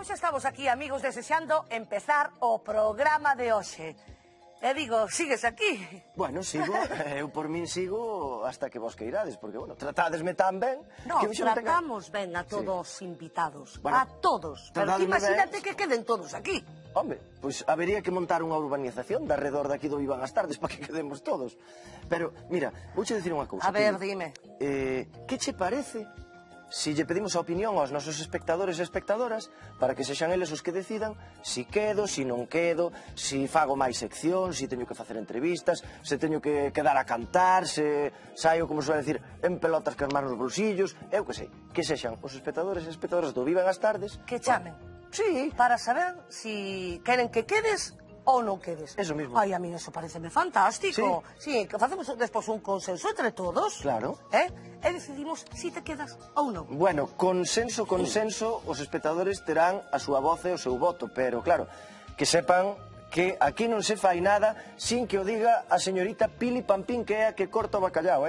Pois xa estamos aquí, amigos, desexando empezar o programa de hoxe. E digo, sigues aquí? Bueno, sigo, eu por min sigo hasta que vos queirades, porque, bueno, tratádesme tan ben... No, tratamos ben a todos os invitados, a todos. Pero ti imagínate que queden todos aquí. Home, pois habería que montar unha urbanización de arredor daqui do Vivan as Tardes para que quedemos todos. Pero, mira, vouche dicir unha cousa. A ver, dime. Que che parece si lle pedimos a opinión aos nosos espectadores e espectadoras para que sexan eles os que decidan si quedo, si non quedo, si fago máis sección, si teño que facer entrevistas, se teño que quedar a cantar, se saio, como suele decir, en pelotas que as mans nos bolsillos, eu que sei, que sexan os espectadores e espectadoras do Vivan as Tardes. Que chamen. Sí. Para saber si queren que quedes ou non quedes. Eso mismo. Ai, a mí eso pareceme fantástico. Sí, que facemos despois un consenso entre todos. Claro. E decidimos si te quedas ou non. Bueno, consenso, os espectadores terán a súa voz e o seu voto, pero claro, que sepan que aquí non se fai nada sin que o diga a señorita Pili Pampín, que é a que corta o bacallao,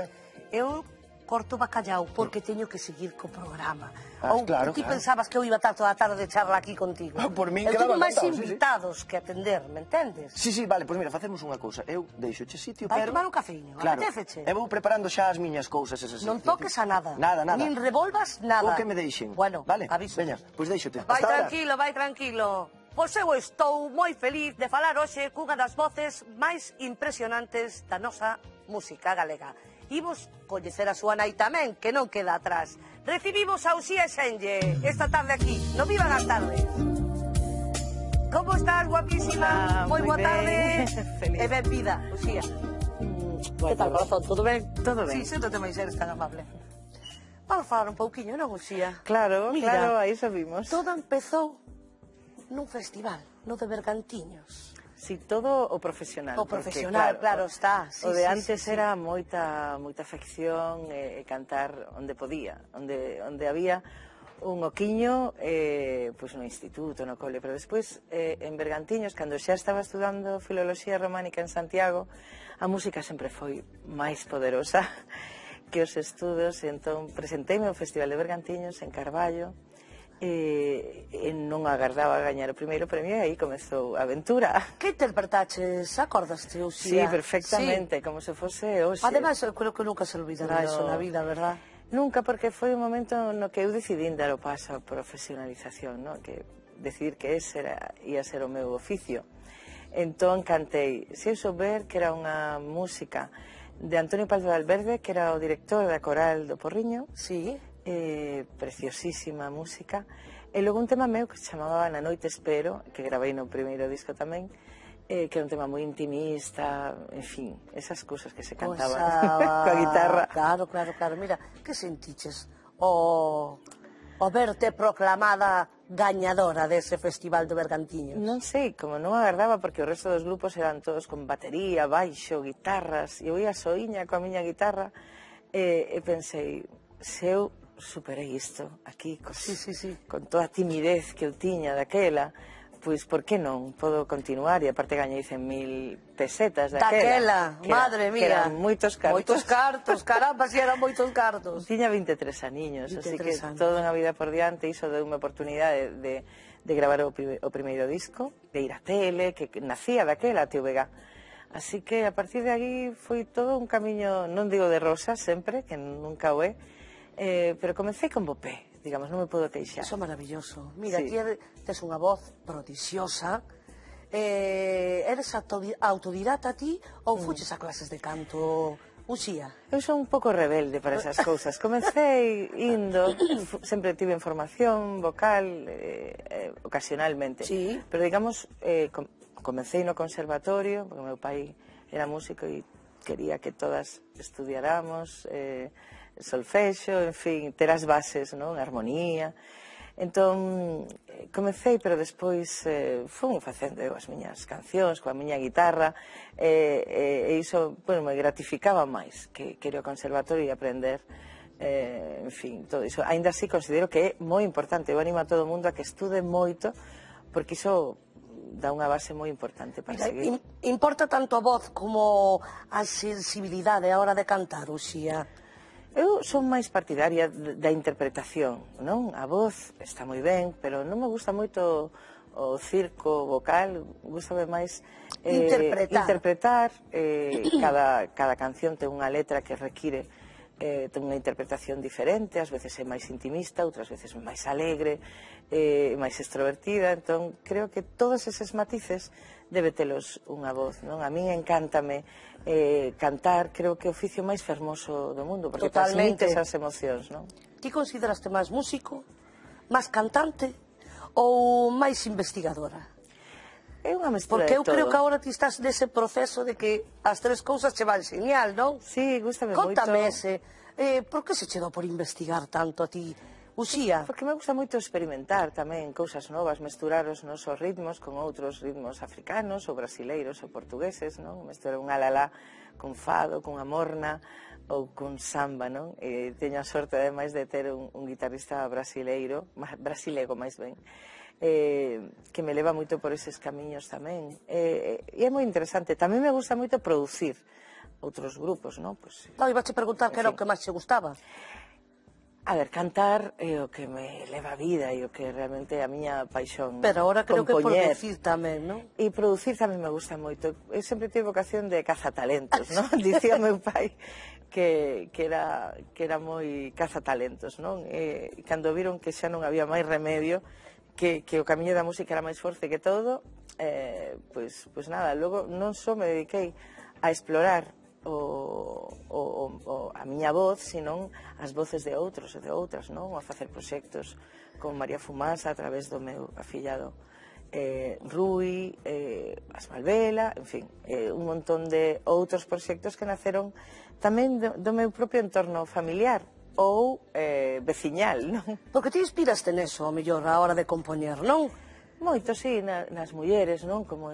Eu corto bacallao porque teño que seguir co programa. Ou claro, ti pensabas que eu iba a estar toda a tarde de charla aquí contigo. Por min eu quedaba teño máis encantado, invitados que atender, me entendes? Sí, vale, pois mira, facemos unha cousa. Eu deixoche sitio, Vai pero... tomar un cafeíño, claro, apetéceche. Eu vou preparando xa as miñas cousas esas. Non toques a nada. Nada. Nin revolvas nada. O que me deixen. Bueno, vale, aviso. veña, pois deixote. Vai tranquilo, vai tranquilo. Pois eu estou moi feliz de falar hoxe cunha das voces máis impresionantes da nosa música galega. Imos coñecer a súa nai tamén, que non queda atrás. Recibimos a Uxía Xenlle esta tarde aquí, no Vivan as Tardes. Como estás, guapísima? Moi boa tarde. Feliz. E benvida, Uxía. Que tal, corazón? Todo ben? Todo ben. Sí, xéntate máis eres tan amable. Vamos falar un pouquiño, non, Uxía? Claro, Mira, claro, aí sabimos. Todo empezou nun festival, no de Bergantiños. Si, todo o profesional. O profesional, claro, está. Sí, o de sí, antes sí, era moita afección e cantar onde podía, onde había un oquiño, pois no instituto, no cole, pero despois en Bergantiños, cando xa estaba estudando filoloxía románica en Santiago, a música sempre foi máis poderosa que os estudos, e entón presenteime ao Festival de Bergantiños en Carballo, e non agardaba a gañar o primeiro premio, e aí comezou a aventura. Que interpretaches? Acordaste, Uxía? Sí, perfectamente, como se fose hoxe. Ademais, eu creo que nunca se olvidará eso na vida, verdad? Nunca, porque foi un momento no que eu decidín dar o paso a profesionalización, no? Que decidir que ese ia ser o meu oficio. Entón cantei, se eu souber que era unha música de Antonio Paz de Valverde, que era o director da coral do Porriño. Sí. Preciosísima música, e logo un tema meu que se chamaba Na noite espero, que gravei no primeiro disco tamén, que é un tema moi intimista, en fin, esas cousas que se cantaban coa guitarra. Claro, mira, que sentiches o verte proclamada gañadora dese Festival de Bergantiños? Non sei, como non agardaba, porque o resto dos grupos eran todos con batería, baixo, guitarras, e eu ia soiña coa miña guitarra, e pensei, se eu superei isto aquí, con toda a timidez que eu tiña daquela, pois por que non podo continuar? E aparte gañei 100.000 pesetas daquela. Madre mía. Que eran moitos cartos. Moitos cartos, caramba, si eran moitos cartos. Tiña 23 aniños, así que toda unha vida por diante, iso deu unha oportunidade de gravar o primeiro disco, de ir á tele, que nacía daquela, TVG. Así que a partir de aí foi todo un camiño, non digo de rosas sempre, que nunca o é, pero comecei con bo pé, digamos, non me podo queixar. Iso é maravilloso. Mira, ti tes unha voz prodixiosa. Eres autodidata ti ou fuches a clases de canto, Uxía? Eu son un pouco rebelde para esas cousas. Comecei indo, sempre tive formación vocal, ocasionalmente. Sí. Pero digamos, comecei no conservatorio, porque o meu pai era músico e quería que todas estudiáramos solfexo, en fin, ter as bases, non? Armonía. Entón, comecei, pero despois fui facendo as miñas cancións coa miña guitarra, e iso, bueno, me gratificaba máis que ir ao conservatorio e aprender, en fin, todo iso. Ainda así considero que é moi importante, eu animo a todo o mundo a que estude moito, porque iso dá unha base moi importante para seguir. Importa tanto a voz como a sensibilidade a hora de cantar, Uxía? Eu son máis partidaria da interpretación, non? A voz está moi ben, pero non me gusta moito o circo vocal, gustame máis interpretar. Cada canción ten unha letra que require ten unha interpretación diferente, ás veces é máis intimista, outras veces máis alegre, máis extrovertida, entón creo que todos eses matices debe telos unha voz, non? A min encántame cantar, creo que é o oficio máis fermoso do mundo, porque transmite esas emocións, non? Ti consideraste máis músico, máis cantante ou máis investigadora? É unha mestura Porque de todo. eu creo que agora ti estás nese proceso de que as tres cousas che van genial, non? Sí, gústame moito. Contame ese, por que se che dá por investigar tanto a ti, Uxía? Porque me gusta moito experimentar tamén cousas novas, mesturar os nosos ritmos con outros ritmos africanos ou brasileiros ou portugueses, non? Mesturar un alalá con fado, con amorna ou con samba, non? Teño a sorte ademais de ter un guitarrista brasileiro, brasilego máis ben, que me leva moito por eses camiños tamén. E é moi interesante. Tamén me gusta moito producir outros grupos, non? Pues, Iba a preguntar que era o que máis che gustaba. A ver, cantar é o que me leva a vida e o que realmente é a miña paixón. Pero agora creo que compoñer. producir tamén, non? E producir tamén me gusta moito. Eu sempre tive vocación de cazatalentos, non? Dicía meu pai que era moi cazatalentos, non? E cando viron que xa non había máis remedio, que o camiño da música era máis forte que todo, pois nada, logo non só me dediquei a explorar a miña voz, senón as voces de outros e de outras, non? A facer proxectos con María Fumasa a través do meu afillado Rui, as Malvela, en fin, un montón de outros proxectos que naceron tamén do meu propio entorno familiar ou veciñal, non? Porque ti inspiraste neso, ao mellor, a hora de compoñer, non? Moito, sí, nas mulleres, non? Como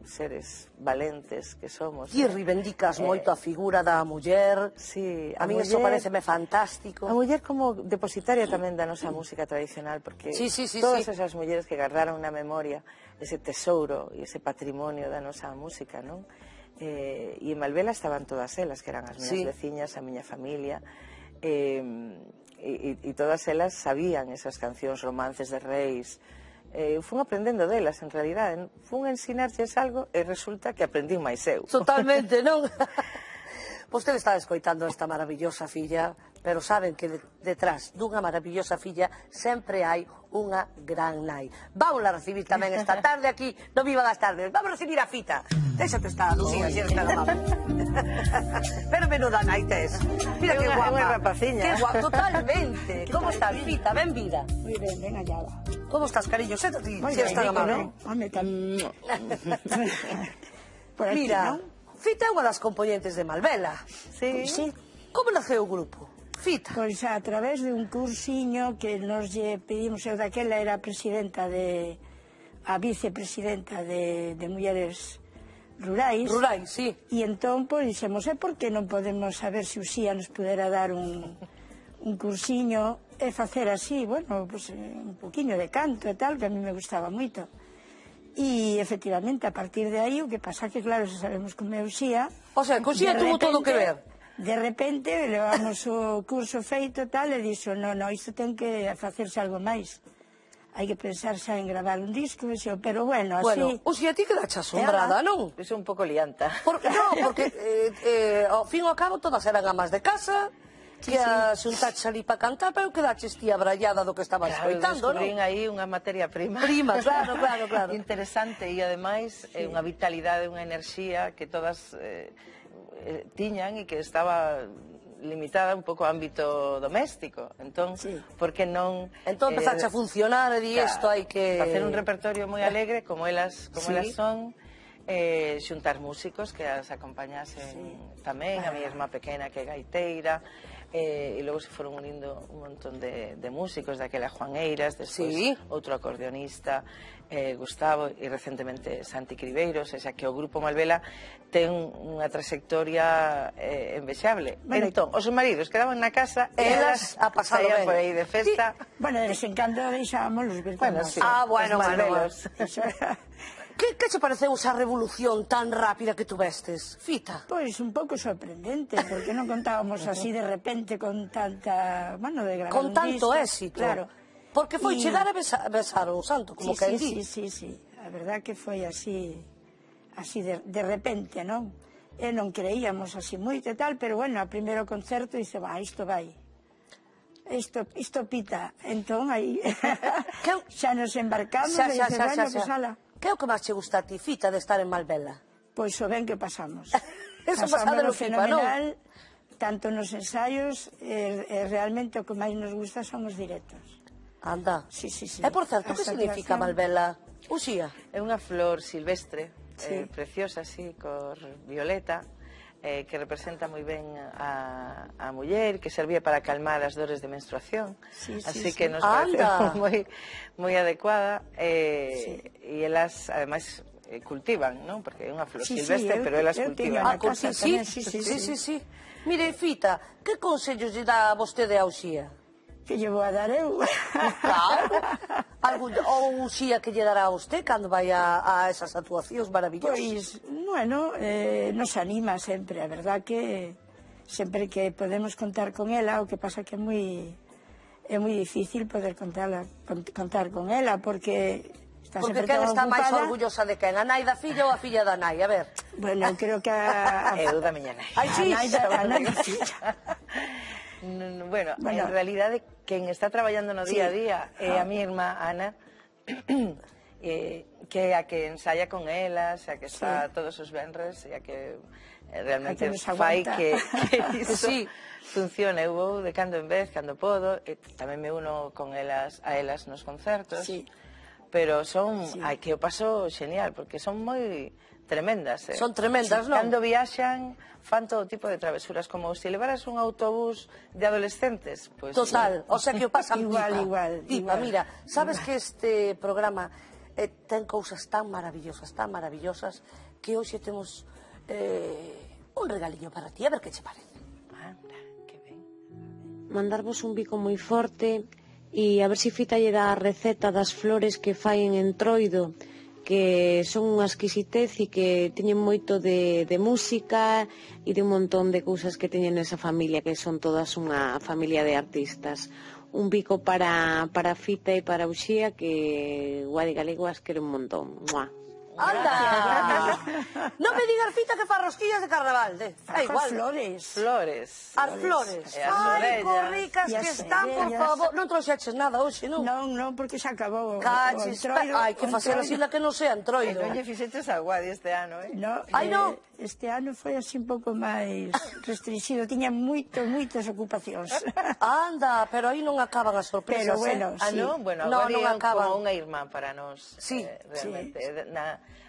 seres valentes que somos. Ti reivindicas moito a figura da muller. Sí, a mí eso pareceme fantástico. A muller como depositaria tamén da nosa música tradicional, porque todas esas mulleres que guardaron na memoria ese tesouro e ese patrimonio da nosa música, non? E en Malvela estaban todas elas, que eran as miñas veciñas, a miña familia, e todas elas sabían esas cancións, romances de reis. Fun aprendendo delas, en realidad. Fun a ensinarlles algo e resulta que aprendín máis eu. Totalmente, non? Vostede está escoitando esta maravillosa filla, pero saben que detrás dunha maravillosa filla sempre hai unha gran nai. Vamos a recibir tamén esta tarde aquí no Viva das Tardes. Vamos a recibir a Fita. Déxate estar, Lucía, si eres tan amable. Pero menuda nai tes. Mira que guapa. Unha rapaciña. Que guapa, totalmente. Como estás, Fita? Ben vida. Moi ben, ben hallada. Como estás, cariño? Séntate, Moi si eres tan ben, amable. non? Home, tan... Por aquí, Mira, non? Fita é unha das componentes de Malvela. Sí. Sí. Como naceu o grupo? Fita. Pois a través de un cursiño que nos lle pedimos, eu daquela era presidenta a vicepresidenta de Mulleres Rurais. Rurais, sí. E entón, pois, dixemos, por que non podemos saber se Uxía nos pudera dar un cursiño e facer así, bueno, pues, un poquinho de canto e tal, que a mí me gustaba moito. E, efectivamente, a partir de aí, o que pasa que, claro, se sabemos como é Uxía... O sea, que Uxía tuvo todo que ver. De repente, levamos o curso feito e tal, e dixo, no, isto ten que facerse algo máis. Hai que pensar xa en gravar un disco, pero bueno, así... Bueno, Uxía, ti quedache asombrada, non? É un pouco lianta. No, porque, ao fin e ao cabo, todas eran amas de casa, que a xuntaxe ali para cantar, pero quedaches ti abrallada do que estabas escoitando, non? Descubrín aí unha materia prima. Prima, claro. Interesante e, ademais, unha vitalidade, unha enerxía que todas tiñan e que estaba limitada un pouco ao ámbito doméstico. Entón, por que non... Entón empezaste a funcionar e di isto hai que... Facer un repertorio moi alegre, como elas son, xuntar músicos que as acompañasen tamén, a miña irmá pequena que é gaiteira, e logo se foron unindo un montón de músicos, daquela Juan Eiras, despois outro acordeonista, Gustavo, e recentemente Santi Cribeiros, xa que o Grupo Malvela ten unha trayectoria envexable. Entón, os maridos quedaban na casa e elas saían por aí de festa. Bueno, de vez en cando deixábamos os virtuales. Bueno, sí, os Malvelos. Que che pareceu esa revolución tan rápida que tuvestes, Fita? Pois un pouco sorprendente, porque non contábamos así de repente con tanta, bueno, de gravar Con un tanto disco. éxito. Claro. Porque foi Y- chegar a besar o santo, como que Sí, di. sí. A verdad que foi así de repente, non? E non creíamos así moito e tal, pero bueno, a primeiro concerto dice, isto vai. Isto pita. Entón, aí xa nos embarcamos e dice, bueno, pues ala. Que é o que máis che gusta a ti, Fita, de estar en Malvela? Pois o ben que pasamos. Eso pasándolo pipa, non? fenomenal, tanto nos ensaios, realmente o que máis nos gusta son os directos. Anda. Sí. E, por certo, que As significa actuacións. Malvela? Uxía. É unha flor silvestre, Sí. preciosa, así, cor violeta, que representa moi ben a muller, que servía para calmar as dores de menstruación. Sí, así sí. que nos Anda. pareceu moi adecuada. E elas, ademais, cultivan, non? Porque é unha flor silvestre, pero elas eu teño cultivan. na casa Sí. tamén, sí. Mire, Fita, que consellos lle dá a vostede a Uxía? Que lle vou a dar eu. Claro. Ou Uxía que lle dará a vostede cando vai a esas actuacións maravillosas? Pois, bueno, nos anima sempre, a verdad que sempre que podemos contar con ela, o que pasa que é moi difícil poder contar con ela, porque está Porque sempre quen tan está máis ocupada. orgullosa de quen? A nai da filla ou a filla da nai? A ver. Bueno, eu creo que Eu da miña nai. Ai, sí. a nai da filla. Bueno, Bueno. en realidade, quen está traballando no día a Sí. día é a mi irmá Ana, que é a que ensaya con elas, a que está todos os venres, e a que realmente A que nos fai aguanta. que iso Sí. funcione. Eu vou de cando en vez, cando podo, e tamén me uno con elas, a elas nos concertos. Sí. Pero son, Sí. que o paso genial, porque son moi tremendas. Son tremendas, non? Cando viaxan, fan todo tipo de travesuras, como se levaras un autobús de adolescentes. Pues, Total, o sea que o pasan Igual, pipa. Pipa, igual. mira, sabes que este programa ten cousas tan maravillosas, que hoxe temos un regaliño para ti, a ver que che parece. Anda, que ben. Mandarvos un bico moi forte e a ver se Fita lle dá a receta das flores que fai en Entroido, que son unha exquisitez e que teñen moito de música e de un montón de cousas que teñen esa familia, que son todas unha familia de artistas. Un bico para Fita e para Uxía, que Guadi Galego as quere un montón. Mua. Anda! Non me digas, Fita, que fa rosquillas de carnaval, é igual. Flores. Flores. As flores. E as Ai, orellas. co ricas E que as están, por orellas. favor. Non trouxeches nada hoxe, non? Non, porque xa acabou o Cachis, Entroido. hai que facer así la que non sea E entroido. non lle fixeches a Guadi este ano, No, Ai, non. Este ano foi así un pouco máis restringido, tiña moitas ocupacións. Anda, pero aí non acaban as sorpresas, Pero bueno, Ah, sí. non? Bueno, No, Guadi non é acaban. como unha irmán para nós. Sí, realmente.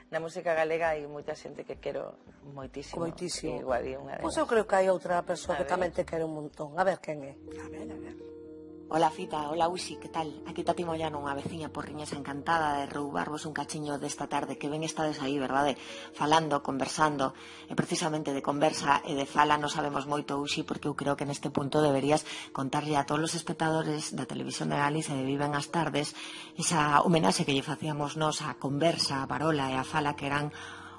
Na música galega hai moita xente que quero moitísimo. Moitísimo. E Guadi é unha delas. Pois eu creo que hai outra persoa A que tamén te quere un montón. A ver quen é. A ver. Hola Fita, hola Uxi, que tal? Aquí Tati Moyano, unha veciña porriñesa encantada de roubarvos un cachiño desta tarde, que ben estades aí, verdade? Falando, conversando, e precisamente de conversa e de fala non sabemos moito, Uxi, porque eu creo que neste punto deberías contarlle a todos os espectadores da televisión de Galicia de Viven as Tardes esa homenaxe que lle facíamos nós á conversa, a parola e a fala que eran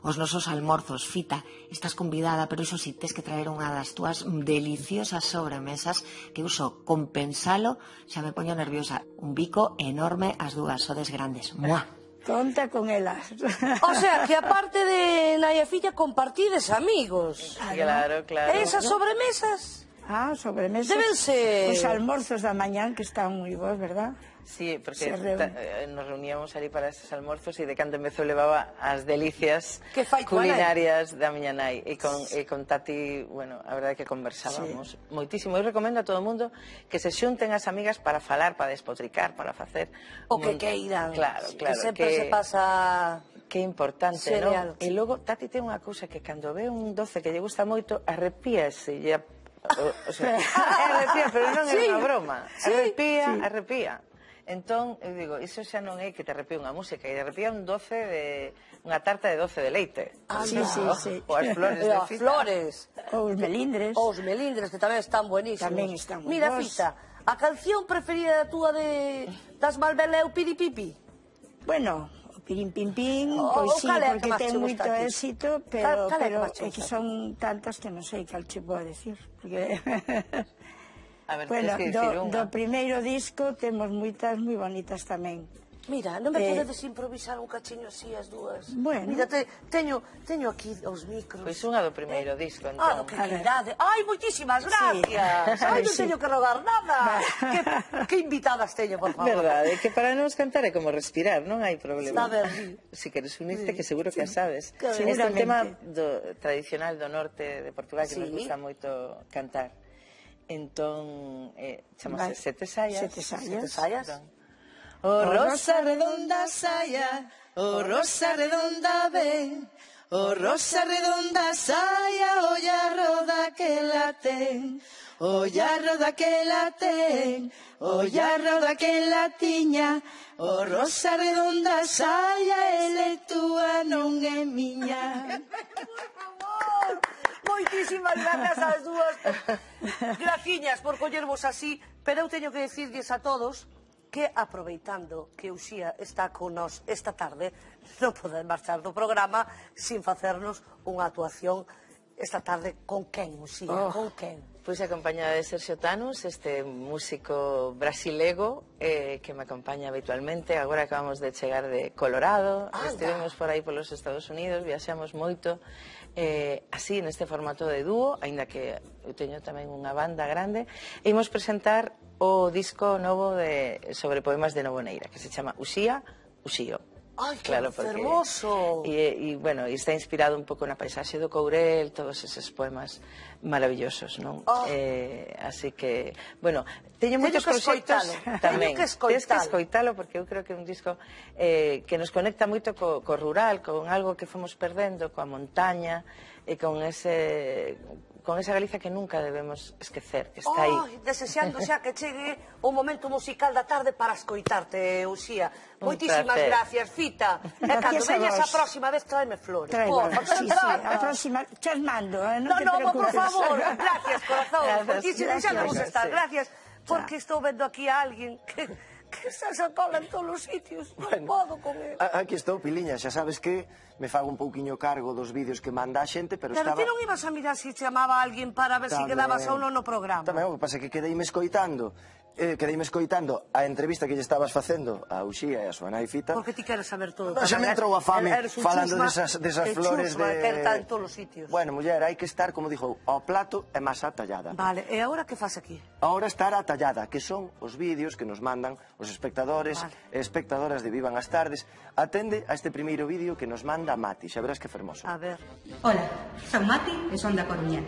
os nosos almorzos. Fita, estás convidada, pero iso si, tes que traer unha das túas deliciosas sobremesas que uso compensalo, xa me poño nerviosa. Un bico enorme, as dúas, sodes grandes. Mua. Conta con elas. O sea, que aparte de nai e filla compartides amigos. Claro, claro. E esas sobremesas Sobremesas. deben ser... Os almorzos da mañán, que están moi bons, verdad? Sí, porque Se reúne. nos reuníamos ali para esos almorzos e de cando empezou levaba as delicias Que fai tua culinarias da miña nai e con Tati, bueno, a verdade é que conversábamos moitísimo. Eu recomendo a todo o mundo que se xunten as amigas para falar, para despotricar, para facer O que queiran. Claro, Que claro, sempre se pasa... que importante, Genial. non? E logo Tati ten unha cousa que cando ve un doce que lle gusta moito, arrepíase, o sea, arrepía, pero non é Sí, unha broma. sí, Arrepía. Entón, eu digo, iso xa non é que te arrepía unha música, e te arrepía unha tarta de 12 de leite. Sí. Ou as flores de As Fita. flores. Ou os melindres. Os melindres, que tamén están buenísimos. Tamén están moi Mira, bons. Fita, a canción preferida túa das Malvela é o Piripipi? Bueno, o Pirín Pin Pin, pois sí, porque ten moito éxito, pero é que son tantas que non sei cal che podo decir. Bueno, do primeiro disco temos moitas moi bonitas tamén. Mira, non me podedes improvisar un cachiño así as dúas? Bueno. Mira, teño aquí os micros. Pois unha do primeiro disco, Ah, entón. que calidade. Ai, moitísimas gracias. Ai, non teño que rogar nada. Que invitadas teño, por favor. Verdade, que para nos cantar é como respirar, non hai problema. Está ben. Si queres unirte, que seguro que a sabes. Este é un tema tradicional do norte de Portugal que nos gusta moito cantar. Entón, chamase Sete Saias. Sete Saias. O rosa redonda saia, o rosa redonda ven, o rosa redonda saia, o llarro daquela ten, o llarro daquela ten, o llarro daquela tiña, o rosa redonda saia, ele túa non é miña. Moitísimas gracias ás dúas. Graciñas por collervos así, pero eu teño que decirlles a todos que, aproveitando que Uxía está con nos esta tarde, non poden marchar do programa sin facernos unha actuación esta tarde. Con quen, Uxía? Con quen? Pois acompañada de Sergio Tanus, este músico brasilego que me acompaña habitualmente. Agora acabamos de chegar de Colorado, estivemos por aí polos Estados Unidos, viaxamos moito, así neste formato de dúo, aínda que eu teño tamén unha banda grande, e imos presentar o disco novo sobre poemas de Novo Neira, que se chama Uxía, Uxío. Ai, que fermoso! E, bueno, está inspirado un pouco na paisaxe do Courel, todos eses poemas maravillosos, non? Así que, bueno, teño moitos proxectos tamén. Tens que escoitalo, porque eu creo que é un disco que nos conecta moito co rural, con algo que fomos perdendo, coa montaña, e con esa Galicia que nunca debemos esquecer, que está aí. Desexando xa que chegue o momento musical da tarde para escoitarte, Uxía. Moitísimas gracias, Fita. E cando veñas a próxima vez, tráeme flores. Sí, a próxima, chas mando, non te preocupes. Por favor, gracias, corazón. Xa vamos a estar, gracias. Porque estou vendo aquí a alguén que está sacando en todos os sitios. Non podo con ele. Aquí estou, Piliña, xa sabes que me fago un pouquiño cargo dos vídeos que manda a xente, pero estaba... Pero ti non ibas a mirar se chamaba a alguén para ver se quedabas ou non no programa. Tamén, o que pasa é que quedeime escoitando a entrevista que lle estabas facendo a Uxía e a súa nai Fita. Porque ti queres saber todo. Xa me entrou a fame falando desas flores de... Que está en todos os sitios. Bueno, muller, hai que estar, como dixo, ao plato e masa tallada. Vale, e agora que faz aquí? Agora estar a tallada, que son os vídeos que nos mandan os espectadores e espectadoras de Vivan as Tardes. Atende a este primeiro vídeo que nos manda Mati, xa verás que fermoso. A ver. Hola, son Mati e son da Coruña.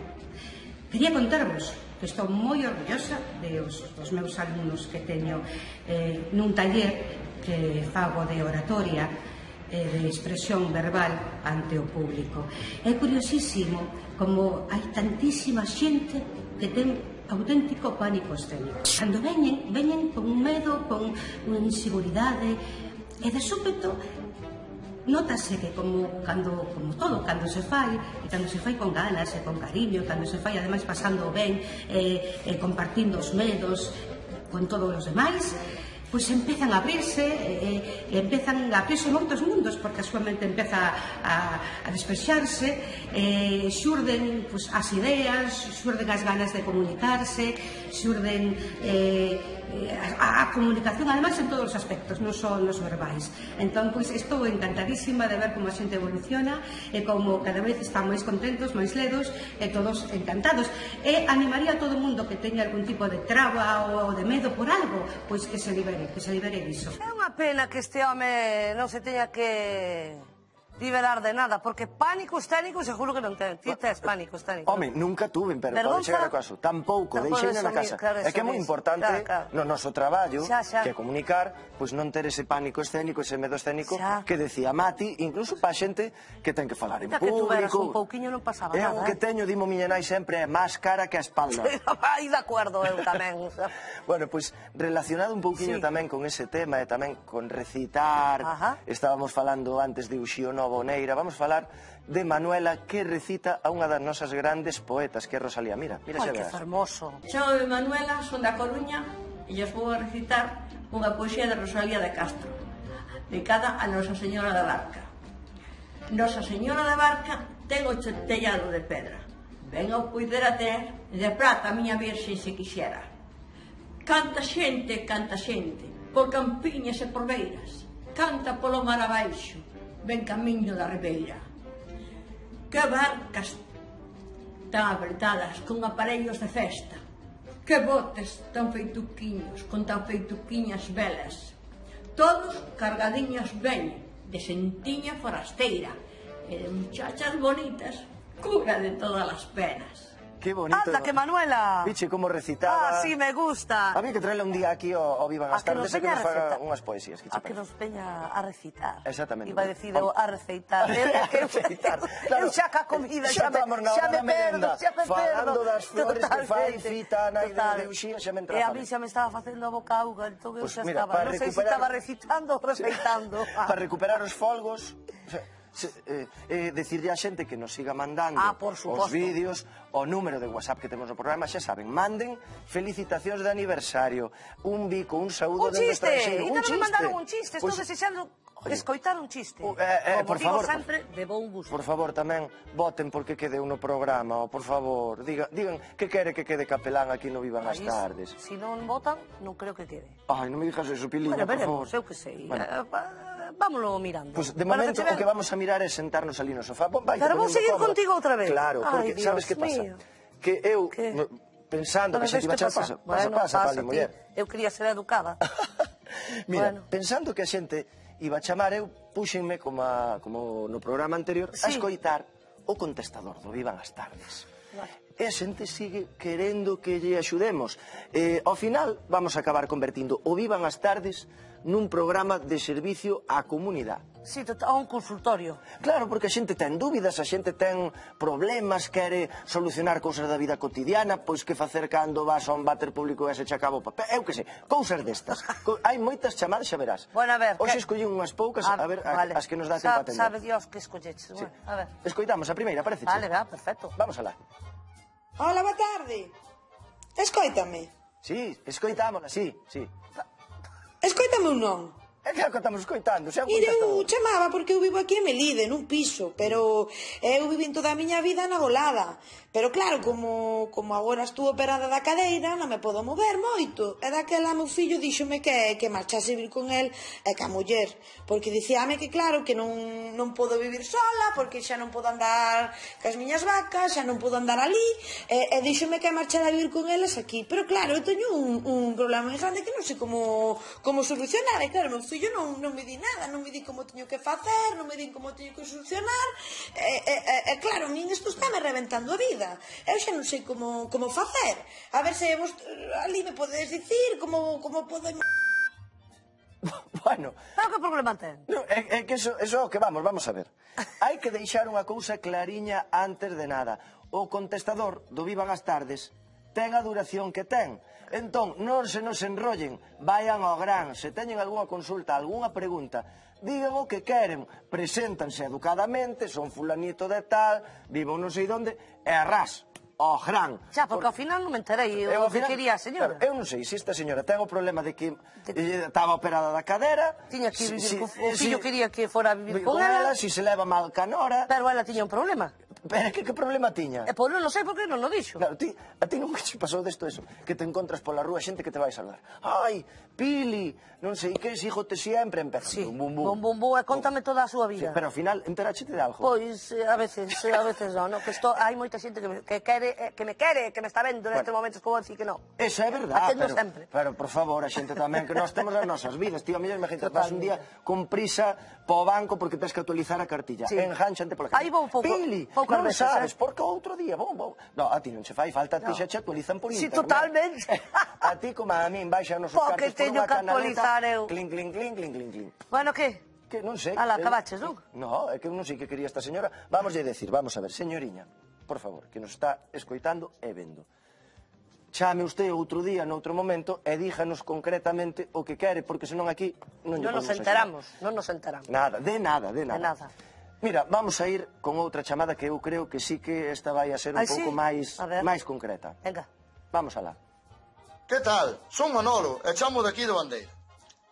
Quería contarvos que estou moi orgullosa dos meus alumnos que teño nun taller que fago de oratoria, de expresión verbal ante o público. É curiosísimo como hai tantísima xente que ten auténtico pánico escénico. Cando veñen con un medo, con unha inseguridade, e de súpeto nótase que como todo, cando se fai, e cando se fai con ganas e con cariño, cando se fai ademais pasando ben, compartindo os medos con todos os demais, pois empezan a abrirse, empezan a abrirse moitos mundos, porque a súa mente empeza a despexarse, xurden as ideas, xurden as ganas de comunicarse, xurden a comunicación, ademais, en todos os aspectos, non só nos verbais. Entón, pois, estou encantadísima de ver como a xente evoluciona e como cada vez están máis contentos, máis ledos e todos encantados. E animaría a todo o mundo que teña algún tipo de traba ou de medo por algo, pois que se libere diso. É unha pena que este home non se teña que liberar de nada, porque pánico escénico seguro que non ten. Ti tes pánico escénico. Home, nunca tuve, pero pode chegar a caso. Tampouco, deixeina na casa. É que é moi importante no noso traballo, que é comunicar, pois non ter ese pánico escénico, ese medo escénico que decía Mati, incluso pa xente que ten que falar en público. Que tuveras un pouquiño non pasaba nada. É o que teño, dimo miña nai sempre, é máis cara que a espalda. Aí de acordo, eu tamén. Bueno, pois relacionado un pouquiño tamén con ese tema e tamén con recitar, estábamos falando antes de Uxío Novo Neira, vamos falar de Manuela, que recita a unha das nosas grandes poetas, que é Rosalía. Mira xa verás. Ai, que fermoso. Chamo Manuela, son da Coruña e os vou a recitar unha poesía de Rosalía de Castro. dedicada a Nosa Señora da Barca. Nosa Señora da Barca ten o tellado de pedra. Ben o puidera ter de prata a miña virxe se quixera. Canta xente, por campiñas e por beiras. Canta polo mar abaixo, ben camiño da ribeira. Que barcas tan apretadas con aparellos de festa. Que botes tan feituquiños, con tan feituquiñas velas. Todos cargadiños ben, de sentiña forasteira, e de muchachas bonitas, cura de todas as penas. Qué bonito. Anda, que Manuela. Viche como recitaba. Ah, sí, me gusta. A mí que traerle un día aquí o Vivan as Tardes e que nos faga unhas poesías. A que nos veña a recitar. Exactamente. Iba a decir a receitar. Eu xa ca comida, xa me perdo. Falando das flores que fai Fita, nai de Uxía, xa me entra a mí xa me estaba facendo a boca auga, entón eu xa estaba, non sei se estaba recitando ou receitando. Para recuperar os folgos... decirle a xente que nos siga mandando os vídeos, o número de WhatsApp que temos no programa, xa saben, manden felicitacións de aniversario, un bico, un saúdo dende estranxeiro, un chiste, me mandaron un chiste, estou desexando escoitar un chiste. Como digo sempre, de bon gusto. Por favor, tamén voten porque quede no programa, por favor, digan que quere que quede capelán aquí no Vivan as Tardes. Se non votan, non creo que quede. Ai, non me dixas eso, Piliña, por favor. Eu que sei. Vámonos mirando. Pues de momento o que vamos a mirar é sentarnos ali no sofá. Pero vou seguir contigo outra vez. Claro, porque sabes que pasa? Que eu, pensando que xa te iba a chance... Pasa, Pali, muller. Eu quería ser educada. Mira, pensando que a xente iba a chamar, eu puxenme, como no programa anterior, a escoitar o contestador do Vivan as Tardes. E a xente sigue querendo que lle axudemos. Ao final, vamos a acabar convertindo o Vivan as Tardes nun programa de servicio á comunidade. Sí, a un consultorio. Claro, porque a xente ten dúbidas, a xente ten problemas, quere solucionar cousas da vida cotidiana, pois que facer cando vas a un váter público e se che acaba o papel, eu que sei, cousas destas. Hai moitas chamadas, xa verás. Bueno, a ver... Hoxe escollín unhas poucas, a ver, as que nos dá tempo a atender. Sabe Dios que escolleches. A ver. Escoitamos a primeira, parece? Vale, perfecto. Vamos alá. Hola, boa tarde. Escoítame. Sí, escoitámola, sí. Escoítame ou non? É claro que estamos escoitando, xa un Mire, contestador. eu chamaba porque eu vivo aquí en Melide, nun piso, pero eu vivín toda a miña vida na Golada. Pero claro, como agora estou operada da cadeira, non me podo mover moito. E daquela meu fillo díxome que marchase vir con el e ca muller. Porque dicíame que claro, que non podo vivir sola, porque xa non podo andar cas miñas vacas, xa non podo andar ali. E díxome que marchara a vivir con eles aquí. Pero claro, eu teño un problema moi grande que non sei como solucionar. E claro, meu fillo non me di nada, non me di como teño que facer, non me di como teño que solucionar. E claro, a min isto está me reventando a vida. Eu xa non sei como facer. A ver se vos ali me podedes dicir como podemos... Bueno... Pero que problema ten? É que eso é o que vamos a ver. Hai que deixar unha cousa clariña antes de nada. O contestador do Vivan as Tardes ten a duración que ten. Entón, non se nos enrollen, vayan ao gran. Se teñen algunha consulta, algunha pregunta, digan o que queren, preséntanse educadamente, son fulanito de tal, vivo non sei onde, e arras, ao gran. Xa, porque ao final non me enterei o que quería a señora. Eu non sei se esta señora ten o problema de que estaba operada da cadera. Tiña que vivir con... O fillo quería que fora a vivir con ela. Si se leva mal canora. Pero ela tiña un problema. Pero que problema tiña? Pois non sei por que non o dixo. Claro, a ti non che pasou desto eso, que te encontras pola rúa xente que te vai saludar. Ai, Pili, non sei que, sígote sempre, empeza. Sí, bum, e contame toda a súa vida. Pero ao final, enteráchete de algo? Pois, a veces non, que hai moita xente que me quere, que me está vendo nestes momentos, como dicir que non. Eso é verdade, pero por favor, a xente tamén, que nós temos as nosas vidas, tío, a mellor imagínate, vas un día con prisa po banco porque tens que actualizar a cartilla, enganchante pola cartilla. Aí vou pouco. Pili, non sabes, porque outro día, vou. No, a ti non che fai falta, a ti xa che actualizan por internet. Sí, totalmente. A ti, como a min, baixan os cartos por unha canaleta, clink, clink, clink, clink, clink, clink. Bueno, que? Que non sei. Ala, acabaches, non? No, é que non sei que quería esta señora. Vamos a decir, vamos a ver, señoriña, por favor, que nos está escoitando e vendo. Chame usted outro día, noutro momento, e díjanos concretamente o que quere, porque senón aquí non nos enteramos. Nada, de nada. Mira, vamos a ir con outra chamada que eu creo que sí que esta vai a ser un pouco máis concreta. Venga. Vamos alá. Que tal? Son Manolo e chamo daqui de Bandeira.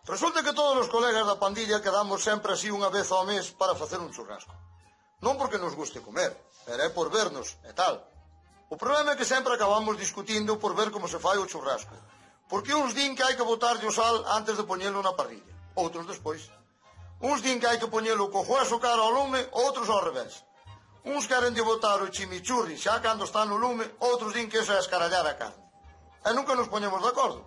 Resulta que todos os colegas da pandilla quedamos sempre así unha vez ao mes para facer un churrasco. Non porque nos guste comer, pero é por vernos e tal. O problema é que sempre acabamos discutindo por ver como se fai o churrasco. Porque uns din que hai que botarlle o sal antes de poñelo na parrilla, outros despois. Uns din que hai que poñelo co hueso cara ao lume, outros ao revés. Uns queren de botar o chimichurri xa cando está no lume, outros din que iso é escarallar a carne. E nunca nos poñemos de acordo.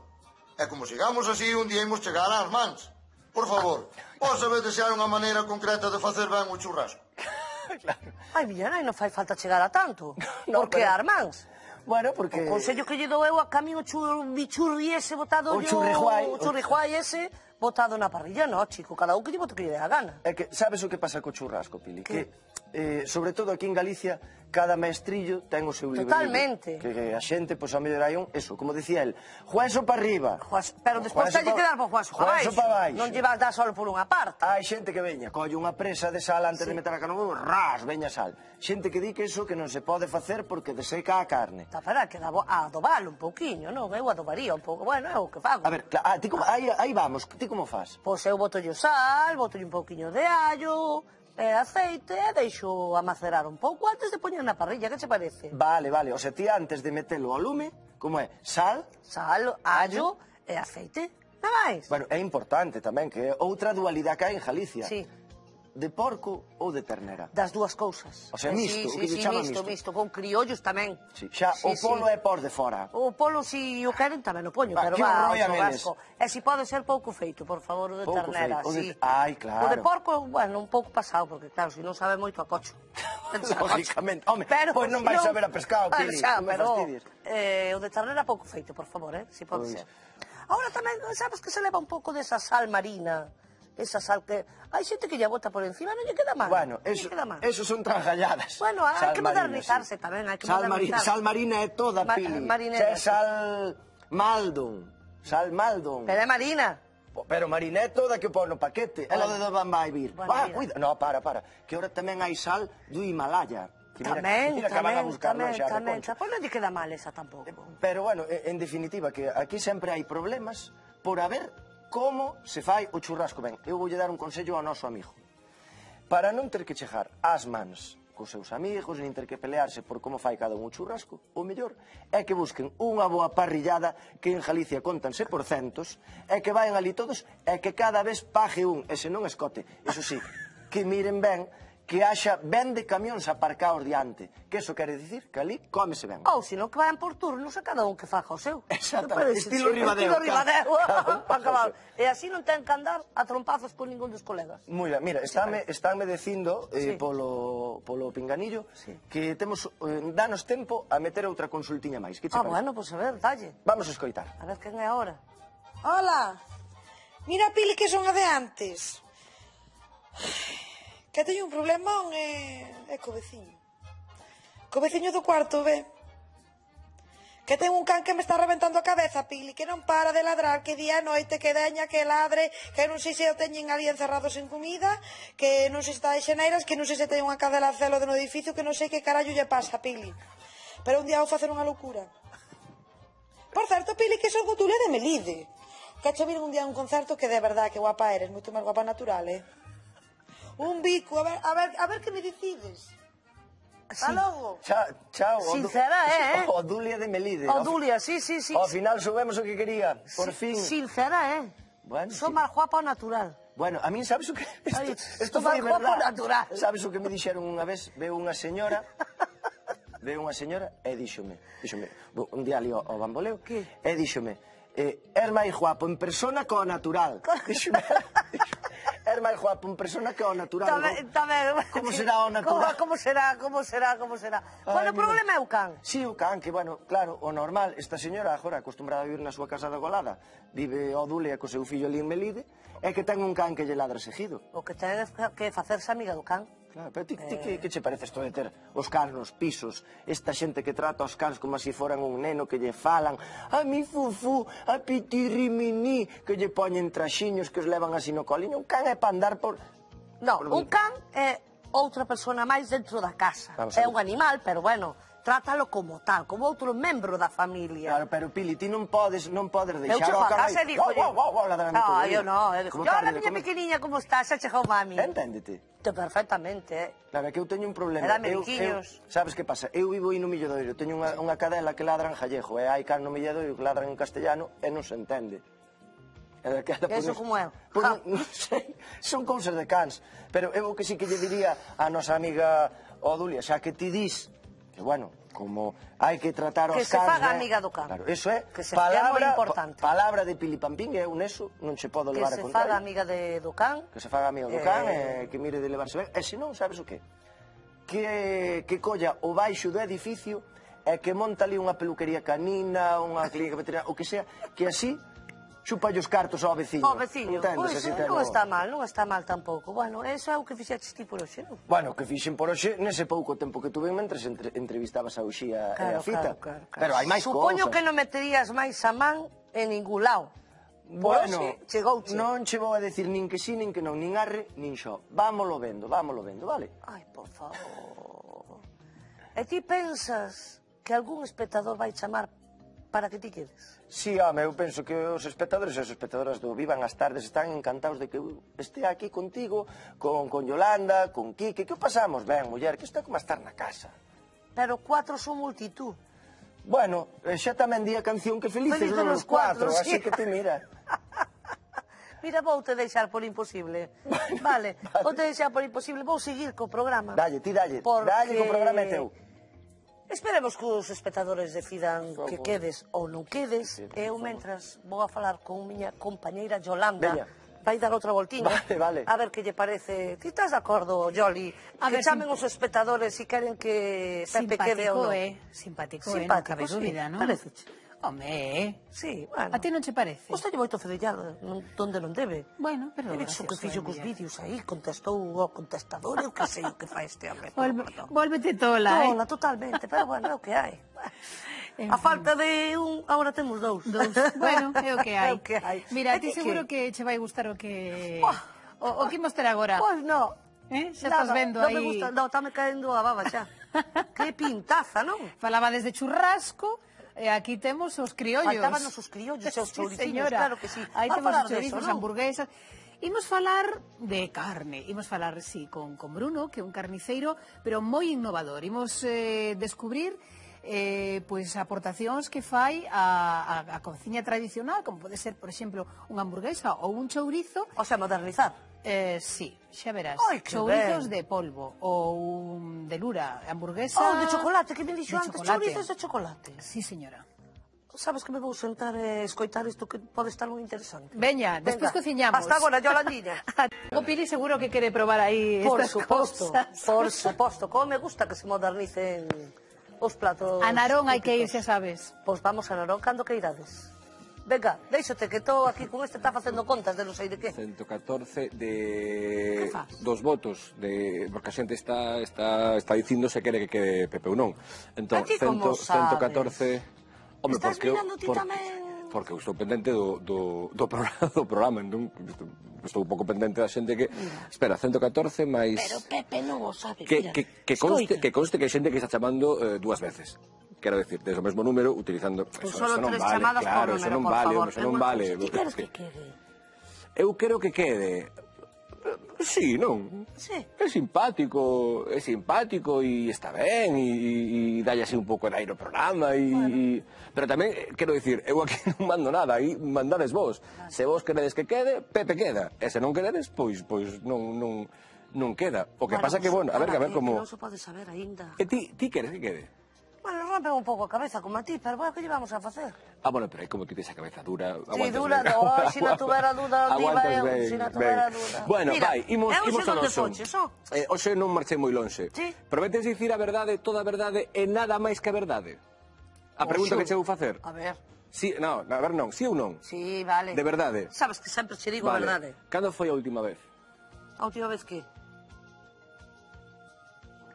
E como sigamos así, un día imos chegar ás mans. Por favor, vos sabedes se hai unha maneira concreta de facer ben o churrasco? Ai, miña nai, non fai falta chegar a tanto. Por que ás mans? Bueno, porque... O consello que lle dou eu a cami o churri ese botado... O churrijuai. O churrijuai ese botado na parrilla, no, chico. Cada un que lle bote que lle dé a gana. É que, sabes o que pasa co churrasco, Pili? Que, sobre todo aquí en Galicia, cada maestrillo ten o seu libro. Totalmente. Que a xente, pois, a mellor hai un... Eso, como decía el, juezo para arriba. Pero despois teñe que dar por juezo para baixo. Non lle vas dar solo por unha parte. Hai xente que veña, colle unha presa de sal antes de meter a carne, ras, veña sal. Xente que di que iso que non se pode facer porque deseca a carne. Está para que adobalo un pouquiño, non? Eu adobaría un pouco. Bueno, é o que fago. A ver, ti como, aí vamos, ti como fas? Pois eu botolle sal, botolle un pouquiño de allo, aceite, e deixo a macerar un pouco antes de poñer na parrilla, que che parece? Vale, o sea, ti antes de metelo ao lume, como é? Sal, allo e aceite, nada máis. Bueno, é importante tamén, que é outra dualidade que hai en Galicia. Sí. De porco ou de ternera? Das dúas cousas. O sea, misto, o que lle chama misto. Misto, con criollos tamén. Xa, o polo é por de fora. O polo, si o queren, tamén o poño, pero va, o churrasco. E si pode ser pouco feito, por favor, o de ternera, si. Ai, claro. O de porco, bueno, un pouco pasado, porque claro, si non sabe moito a cocho. Lógicamente. Home, pois non vais saber a pescado, Pili, non me fastidies. O de ternera pouco feito, por favor, si pode ser. Ahora tamén, sabes que se leva un pouco desa sal marina, esa sal que... Hai xente que lle bota por encima, non lle queda mal. Bueno, eso son trangalladas. Bueno, hai que modernizarse tamén, hai que modernizarse. Sal marina é toda, Pili. É sal Maldon. Sal Maldon. Pero é marina. Pero marina é toda que pon no paquete. É lo de onde vai vir. Cuida. No, para. Que ahora tamén hai sal do Himalaya. Tamén. Pois non lle queda mal esa tampouco. Pero, bueno, en definitiva, que aquí sempre hai problemas por haber como se fai o churrasco ben. Eu voulle dar un consello ao noso amigo. Para non ter que chegar ás mans cos seus amigos, nin ter que pelearse por como fai cada un o churrasco, o mellor é que busquen unha boa parrillada que en Galicia contanse por centos, e que vayan ali todos e que cada vez pague un, e se non escote. Eso sí, que miren ben que haxa ben de camións aparcados diante. Que eso quere dicir que ali cómese ben. Ou senón que vayan por turnos e cada un que faja o seu. Exactamente, estilo Ribadeo. E así non ten que andar a trompazos con ningún dos colegas. Mira, estánme dicindo polo pinganillo que temos, danos tempo a meter outra consultiña máis. Bueno, pois a ver, dalle. Vamos a escoitar. A ver quen é ahora. Hola. Mira, Pili, que son a de antes. Que teño un problemón co veciño. Co veciño do cuarto, ve? Que ten un can que me está reventando a cabeza, Pili, que non para de ladrar, que día e noite, que deña, que ladre, que non sei se o teñen ali encerrados en comida, que non sei se está de xeneiras, que non sei se ten unha cadela celo no edificio, que non sei que carallo lle pasa, Pili. Pero un día vou facer unha loucura. Por certo, Pili, que son Gotulia de Melide. Que che viron un día a un concerto que de verdad, que guapa eres, moito máis guapa natural, Un bico, a ver que me decides. Hasta logo. Chao. Sincera, Odulia de Melide. Odulia, sí. Ao final soubemos o que quería, por fin. Sincera, Bueno, son máis guapa ao natural. Bueno, a min sabes o que... Isto foi verdad. Sabes o que me dixeron unha vez? Veo unha señora e díxome, un día ali ao bamboleo, e díxome, er máis guapo en persona co natural. Díxome, er máis guapo en persona que o natural. Como será o natural? Como será? Bueno, o problema é o can. Si, o can, que, bueno, claro, o normal, esta señora agora acostumbrada a vivir na súa casa da Golada, vive o Dulia co seu fillo ali en Melide, é que ten un can que lle ladra seguido. O que ten que facerse amiga do can. Claro, pero ti que che parece isto de ter os cans nos pisos, esta xente que trata os cans como se foran un neno, que lle falan a mi fufu, a pitirrimini, que lle poñen traxiños que os levan así no coliño. Un can é para andar por... Non, un can é outra persona máis dentro da casa. É un animal, pero bueno, trátalo como tal, como outro membro da familia. Claro, pero Pili, ti non podes deixar Eu chego ao a carro casa e digo, ladrando todo o día. eu non, eu digo, hola, miña pequeniña, como estás? Xa chegou mami. Enténdete. Perfectamente, Claro, é que eu teño un problema. Era meriquiños. Sabes que pasa? Eu vivo aí no Milladoiro, teño unha cadela que ladra en gallego, e hai can no Milladoiro que ladran en castellano e non se entende. Eso como é? Non sei, son cousas de cans. Pero eu que sí que lle diría a nosa amiga Odulia, xa que ti dis, que bueno, como hai que tratar os cans... Que se faga amiga do can. Claro, eso é moi importante. Palabra de Pilipampín, e eu neso non se podo levar a contrario. Que se contrario. faga amiga do can. Que se faga amiga do can e que mire de levarse ben. E se non, sabes o qué? Que colla o baixo do edificio e que monta ali unha peluquería canina, unha clínica veterinaria, o que sea, que así chupa os cartos ao veciño. Ao veciño, pois non está mal tampouco. Bueno, eso é o que fixeches ti por hoxe, non? Bueno, que fixen por hoxe nese pouco tempo que tuve mentres entrevistabas a Uxía e a Fita. Pero hai máis cousas. Supoño que non meterías máis a man en ningún lado. Bueno, chegouche. Non che vou a decir nin que sí, nin que non, nin arre, nin xo. Vámolo vendo, vale? Ai, por favor. E ti pensas que algún espectador vai chamar para que ti quedes? Sí, home, eu penso que os espectadores e as espectadoras do Vivan as Tardes están encantados de que eu estea aquí contigo, con Yolanda, con Quique, que o pasamos ben, muller, que isto é como estar na casa. Pero 4 son multitud. Bueno, xa tamén di a canción que felices los 4, así que ti mira. Mira, vou te deixar por imposible. Vale, vou te deixar por imposible, vou seguir co programa. Dalle, dalle, co programa é teu. Esperemos que os espectadores decidan que quedes ou non quedes. Eu, mentras, vou a falar con miña compañeira Yolanda. Vai dar outra voltiña. Vale. A ver que lle parece. Ti estás de acordo, Yoli? Que chamen os espectadores se queren que Pepe quede ou non. Simpático, non cabe dúbida, non? Parece. Home, sí, bueno. A ti non che parece? Pois teño moito fedellado, donde non debe. Bueno, pero gracioso. Que fixo cos vídeos aí, contestou o contestador, eu que sei o que fai este hombre. Volvete tola, Tola, totalmente, pero bueno, é o que hai. A falta de un, agora temos dous. Bueno, é o que hai. Mira, a ti que seguro que che vai gustar o que... O que imos ter agora. Pois non. Xa estás vendo aí... Non me gusta, non, está me caendo a baba xa. Que pintaza, non? Falaba desde churrasco... E aquí temos os criollos. Faltábanos os criollos e os chouriciños, claro que sí. Aí temos os chourizos, hamburguesas. Imos falar de carne, imos falar, sí, con Bruno, que é un carniceiro, pero moi innovador. Imos descubrir pois aportacións que fai a cociña tradicional, como pode ser, por exemplo, unha hamburguesa ou un chourizo. O sea, modernizar. Sí, xa verás. Chourizos de polvo ou de lura, hamburguesa... Oh, de chocolate, que me dixo antes, chourizos de chocolate. Sí, señora. Sabes que me vou sentar e escoitar isto que pode estar moi interesante. Veña, despois cociñamos. Hasta agora, Yolandinha. O Pili seguro que quere probar aí estas cosas. Por suposto, como me gusta que se modernicen os platos. A Narón hai que ir, xa sabes. Pois vamos a Narón cando que irades. Venga, deixote que estou aquí con este, está facendo contas de non sei de que. 114 de dos votos, porque a xente está dicindo se quere que quede Pepe ou non. Entón, 114... Home, estás mirando ti tamén? Porque eu estou pendente do programa, entón estou un pouco pendente da xente que... Espera, 114 máis... Pero Pepe non o sabe, que conste que hai xente que está chamando 2 veces. Quero decir, desde o mesmo número, utilizando... Pues solo 3 chamadas por número, por favor. Eso non vale. Ti queres que quede? Eu quero que quede... Sí, non? Sí. É simpático e está ben, e dalle así un pouco de aire ao programa, pero tamén, quero dicir, eu aquí non mando nada, aí mandades vos. Se vos queredes que quede, Pepe queda. E se non queredes, pois non queda. O que pasa que, bueno, a ver como... Non se pode saber aínda. E ti queres que quede? Bueno, rompe un pouco a cabeza como a ti, pero bueno, que lle vamos a facer? Bueno, pero aí como ti tes a cabeza dura, sí, dura, no, se non tuvera duda, diva eu, se non tuvera duda. Bueno, vai, imos ao noso. Hoxe non marchei moi lonxe. Prometes dicir a verdade, toda a verdade e nada máis que a verdade? A pregunta que che vou facer. A ver. Sí, non, a ver non, sí ou non? Sí, vale. De verdade? Sabes que sempre che digo a verdade. Cando foi a última vez? A última vez que?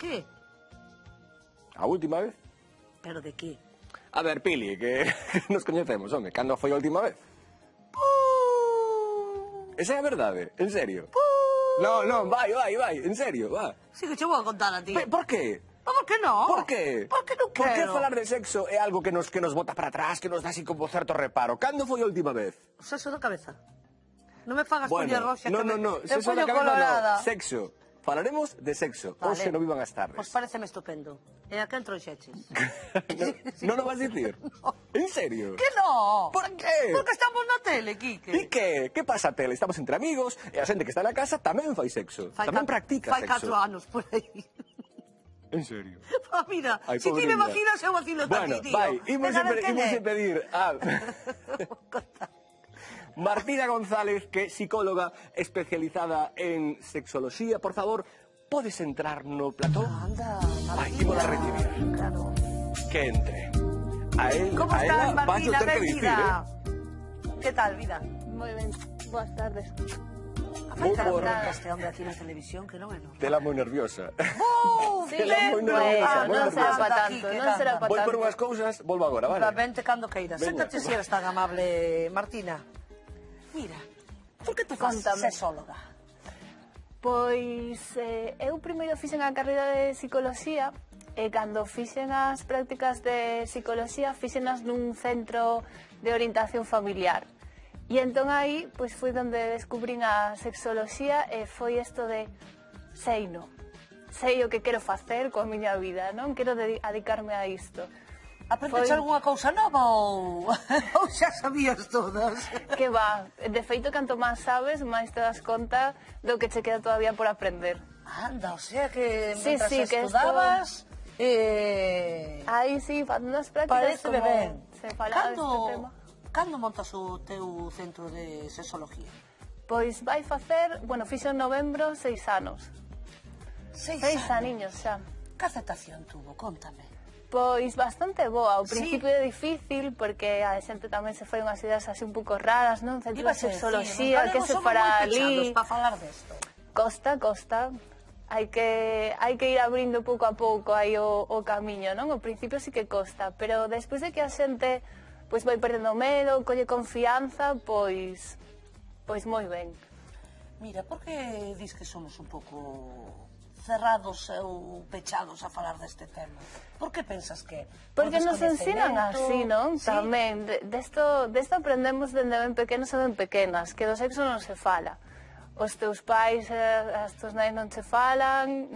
Que? A última vez? Pero de que? A ver, Pili, que nos coñecemos, home, cando foi a última vez? Esa é a verdade, en serio? Non, vai, en serio, va. Sí que che vou a contar a ti. Por que? Por que non? Por que? Porque non Por que quero. falar de sexo é algo que nos bota para atrás, que nos dá así como certo reparo? Cando foi a última vez? O sexo da cabeza. Non me fagas Bueno, poñer roxa que no, te sexo da poño cabeza colorada. no, sexo. Falaremos de sexo, hoxe no Vivan as Tardes. Pois pareceme estupendo. E a quen trouxeches? Non o vas dicir? En serio? Que non? Por que? Porque estamos na tele, Quique. E que? Que pasa a tele? Estamos entre amigos e a xente que está na casa tamén fai sexo. Tamén practica Fai sexo. 4 anos por aí. En serio? Ah, mira, Ai, si ti me pobreña. vacinas, eu vacilo Bueno, ti, tío. vai, imos Ven a ver quen é. a pedir a Martina González, que é psicóloga especializada en sexoloxía. Por favor, podes entrar no plató? Anda, Ai, imos a recibir. Claro. Que entre. A él, Como a estás, ela vas Martina? ter que dicir, Benvida. Que tal, vida? Moi ben, boas tardes. Moi por... Este hombre aquí na televisión, que non é non. Tela moi nerviosa. Sí, Tela moi nerviosa, moi non será nerviosa. para tanto, non será para Voy tanto. por unhas cousas, volvo agora, vale? Vente cando queiras. Veña. Séntate si eres tan amable, Martina. Mira, por que te faz Contame. sexóloga? Pois eu primeiro fixen a carreira de psicoloxía e cando fixen as prácticas de psicoloxía fixenas nun centro de orientación familiar. E entón aí pois foi onde descubrín a sexoloxía e foi isto de sei o que quero facer coa miña vida, non quero dedicarme a isto. Aprendes algunha cousa nova ou xa sabías todas? Que va, de feito, canto máis sabes, máis te das conta do que che queda todavía por aprender. Anda, o sea que Sí, mentras sí, que estudabas... Aí sí, facendo as prácticas Pareceme como ben. se falaba deste tema. Cando montas o teu centro de sexología? Pois vai facer, bueno, fixo en novembro 6 anos. 6 aniños xa. Que aceptación tuvo? Contame. Pois bastante boa, ao Sí. principio é difícil porque a xente tamén se foi unhas ideas así un pouco raras, non? Centro de sexoloxía, que se fará ali. Para falar desto. Costa. Hai que ir abrindo pouco a pouco aí o camiño, non? Ao principio sí que costa, pero despois de que a xente pois vai perdendo medo, colle confianza, pois moi ben. Mira, por que dis que somos un pouco cerrados ou pechados a falar deste tema? Por que pensas que? Porque nos ensinan así, non? Sí. Tamén, desto aprendemos dende ben pequenos e ben pequenas, que do sexo non se fala. Os teus pais, as teus nais non se falan,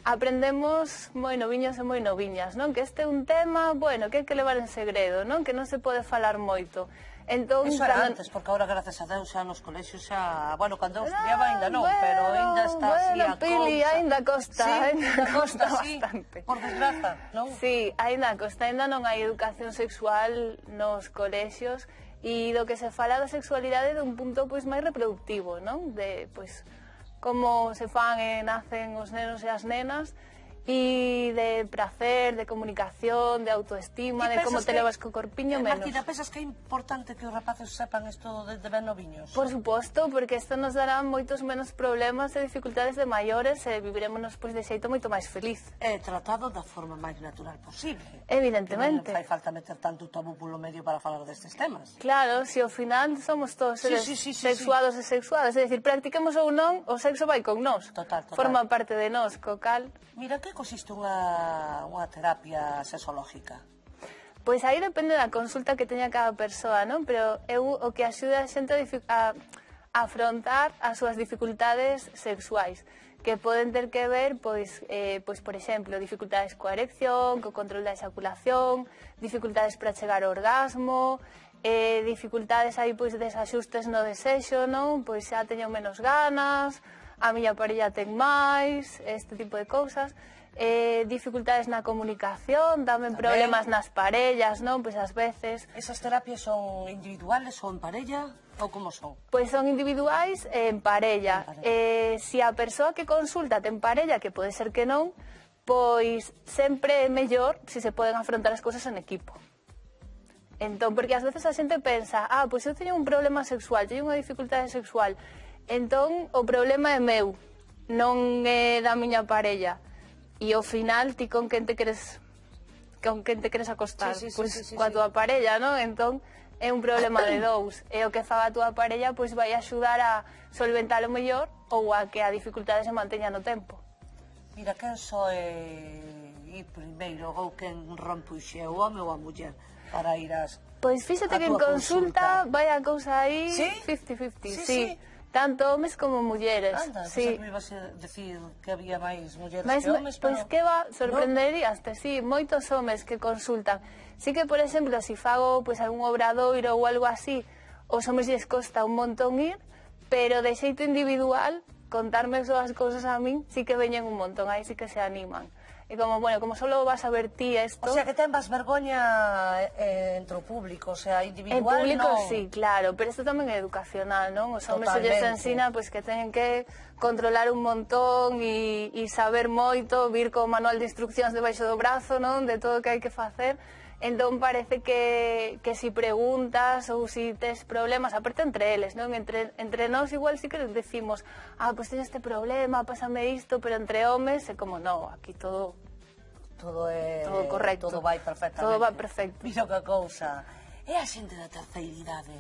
aprendemos moi noviños e moi noviñas, non? Que este é un tema, bueno, que hai que levar en segredo, non? Que non se pode falar moito. Entón, Eso era antes, porque agora, gracias a Deus, xa nos colexios xa... Bueno, cando eu estudiaba ainda non, pero ainda está así a Pili, cousa. ainda costa, Sí, ainda costa, costa sí, bastante. por desgraza, non? Sí, ainda costa, ainda non hai educación sexual nos colexios e do que se fala da sexualidade de un punto pois máis reproductivo, non? De, pois, como se fan e nacen os nenos e as nenas e de prazer, de comunicación, de autoestima, de como te levas co corpiño menos. Martina, pensas que é importante que os rapaces sepan isto desde ben noviños? Por suposto, porque isto nos dará moitos menos problemas e dificultades de maiores e viviremos pois, de xeito moito máis feliz. É tratado da forma máis natural posible. Evidentemente. Non fai falta meter tanto tabú polo medio para falar destes temas. Claro, se ao final somos todos seres Sí. sexuados e sexuadas, é dicir, practiquemos ou non, o sexo vai con nós. Total. Forma parte de nós, co cal. Mira, que consiste unha terapia sexológica? Pois aí depende da consulta que teña cada persoa, non? Pero eu o que axuda a xente a afrontar as súas dificultades sexuais, que poden ter que ver, pois, por exemplo, dificultades coa erección, co control da exaculación, dificultades para chegar ao orgasmo, dificultades aí, pois, desaxustes no desexo, non? Pois xa teño menos ganas, a miña parella ten máis, este tipo de cousas. Dificultades na comunicación, tamén problemas nas parellas, non? Pois ás veces... Esas terapias son individuales ou en parella? Ou como son? Pois son individuais e en parella. Se a persoa que consulta ten parella, que pode ser que non, pois sempre é mellor se se poden afrontar as cousas en equipo. Entón, porque ás veces a xente pensa, pois eu teño un problema sexual, teño unha dificultade sexual, entón o problema é meu, non é da miña parella. E ao final ti con quen te queres acostar, pois coa túa parella, non? Entón é un problema de dous, e o que faga a túa parella pois vai axudar a solventalo mellor ou a que a dificultade se manteña no tempo. Mira, quen soe ir primeiro ou quen rompe o xe, o home ou a muller, para ir ás... Pois fíxate que en consulta vai a cousa aí 50-50, sí. Tanto homes como mulleres. Anda, sí. pensaba que me ibas a decir que había máis mulleres Mas, que homes, pero... Pois que va, sorprenderíaste, sí, moitos homes que consultan. Sí que, por exemplo, se fago pois, algún obradoiro ou algo así, os homes lles costa un montón ir, pero de xeito individual, contarme as cousas a min, sí que veñen un montón, aí sí que se animan. E como, bueno, como solo vas a ver ti esto... O sea, que ten vas vergoña entre o público, o sea, individual, en público, non... sí, claro, pero isto tamén é educacional, non? Os homes se lles ensina pois, que teñen que controlar un montón e saber moito, vir co manual de instruccións debaixo do brazo, non? De todo o que hai que facer. Entón parece que si preguntas ou si tes problemas, aparte entre eles, non? Entre nós igual sí que decimos, pois teño este problema, pásame isto, pero entre homes é como, no, aquí todo correcto. Todo vai perfectamente. Todo vai perfecto. Mira que cousa. E a xente da terceira idade?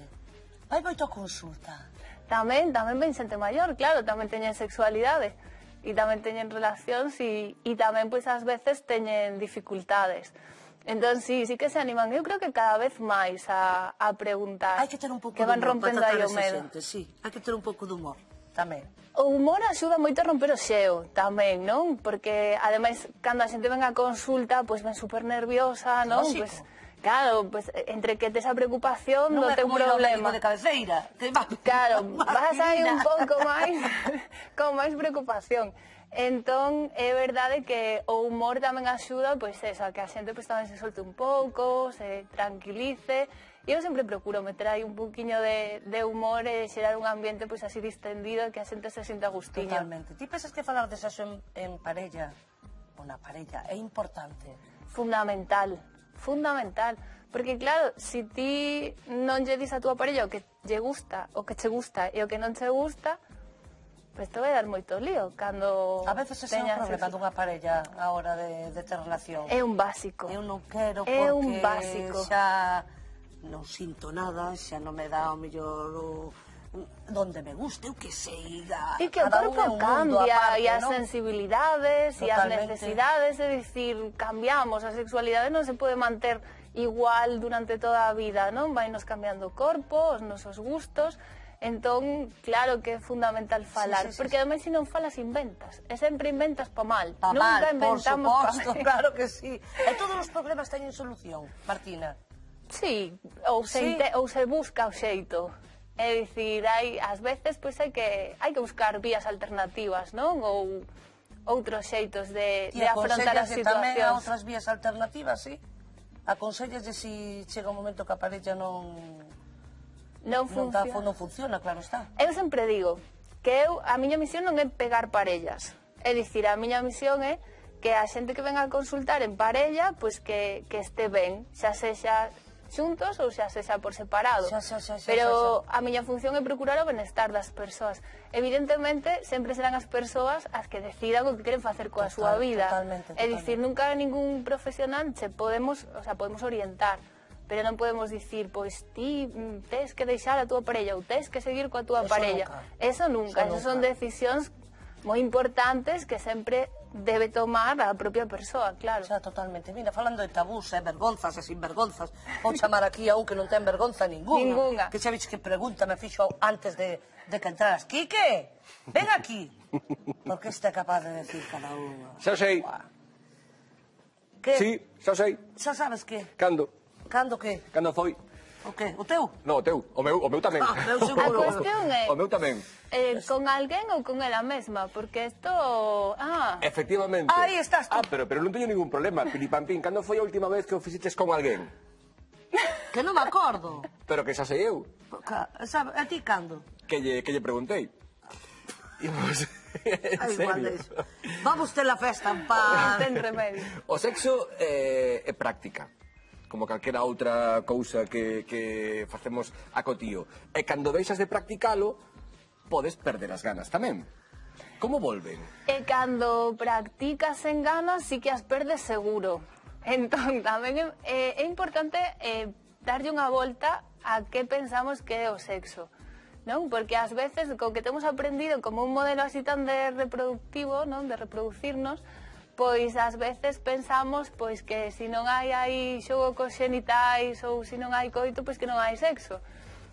Vai moito a consulta? Tamén ven xente maior, claro, tamén teñen sexualidade e tamén teñen relacións e tamén, pois, ás veces teñen dificultades. Entón, sí que se animan. Eu creo que cada vez máis a preguntar. Hai que ter un pouco de humor rompendo para aí tratar o esa medo. xente, sí. Hai que ter un pouco de humor, tamén. O humor axuda moito a romper o xeo, tamén, non? Porque, ademais, cando a xente ven a consulta, pois ven super nerviosa, non? Lógico. Pues, claro, pues, entre que tes a preocupación do teu problema. Non é como ir ao médico de cabeceira. Claro, vas aí un pouco máis, con máis preocupación. Entón, é verdade que o humor tamén axuda, pois eso, a que a xente pois, tamén se solte un pouco, se tranquilice. E eu sempre procuro meter aí un poquinho de humor e xerar un ambiente pois así distendido e que a xente se sinta gustiño. Totalmente. Ti pensas que falar de sexo en parella, ou na parella, é importante? Fundamental. Porque claro, se ti non lle dis a túa parella o que lle gusta, o que che gusta e o que non che gusta, pois te vai dar moito lío cando a veces ese é un problema dunha parella a hora de ter relación. É un básico. Eu non quero porque xa non sinto nada, xa non me dá o mellor donde me guste, eu que sei. E que o corpo cambia, e as sensibilidades, e as necesidades, é dicir, cambiamos, a sexualidade non se pode manter igual durante toda a vida, non? Vainos cambiando o corpo, os nosos gustos. Entón, claro que é fundamental falar, porque ademais se non falas inventas, e sempre inventas pa mal. Nunca inventamos por suposto, claro que sí. E todos os problemas teñen solución, Martina? Sí, ou se busca o xeito. É dicir, ás veces pois hai que buscar vías alternativas, non? Ou outros xeitos de afrontar as situacións. Tamén a outras vías alternativas, sí? Aconsellase se chega un momento que a parella non funciona, claro está. Eu sempre digo que a miña misión non é pegar parellas. É dicir, a miña misión é que a xente que venga a consultar en parella, pois que este ben, xa sexa xuntos ou xa sexa por separado. Pero a miña función é procurar o benestar das persoas. Evidentemente, sempre serán as persoas as que decidan o que queren facer coa súa vida. É dicir, nunca ningún profesional podemos orientar. Pero non podemos dicir, pois ti tes que deixar a túa parella ou tes que seguir coa túa parella. Eso nunca. Esas son decisións moi importantes que sempre debe tomar a propia persoa, claro. Xa, totalmente. Mira, falando de tabús, vergonzas e sinvergonzas, vou chamar aquí a un que non ten vergonza ninguna. Que xa vixe que pregunta me fixo antes de que entraras. Quique, ven aquí. Porque este é capaz de decir cada unha. Xa sei. Que? Sí, xa sei. Xa sabes que? Cando? Cando que? Cando foi? O que? O teu? No, o teu. O meu tamén. A cuestión é... O meu tamén. Con alguén ou con ela mesma? Porque isto... Efectivamente. Aí estás tú. Pero non teño ningún problema. Pilipampín, cando foi a última vez que o fixeches con alguén? Que non me acordo. Pero que xa sei eu. A ti cando? Que lle preguntei. En serio. Vamos ter la festa en paz. Ten remedio. O sexo é práctica, como calquera outra cousa que facemos a cotío. E cando deixas de practicalo, podes perder as ganas tamén. Como volven? E cando practicas en ganas, sí que as perdes seguro. Entón, tamén é importante darlle unha volta a que pensamos que é o sexo. non? Porque ás veces, co que temos aprendido como un modelo así tan de reproductivo, non? De reproducirnos, pois ás veces pensamos pois que se non hai aí xogo cos xenitais ou se non hai coito, pois que non hai sexo.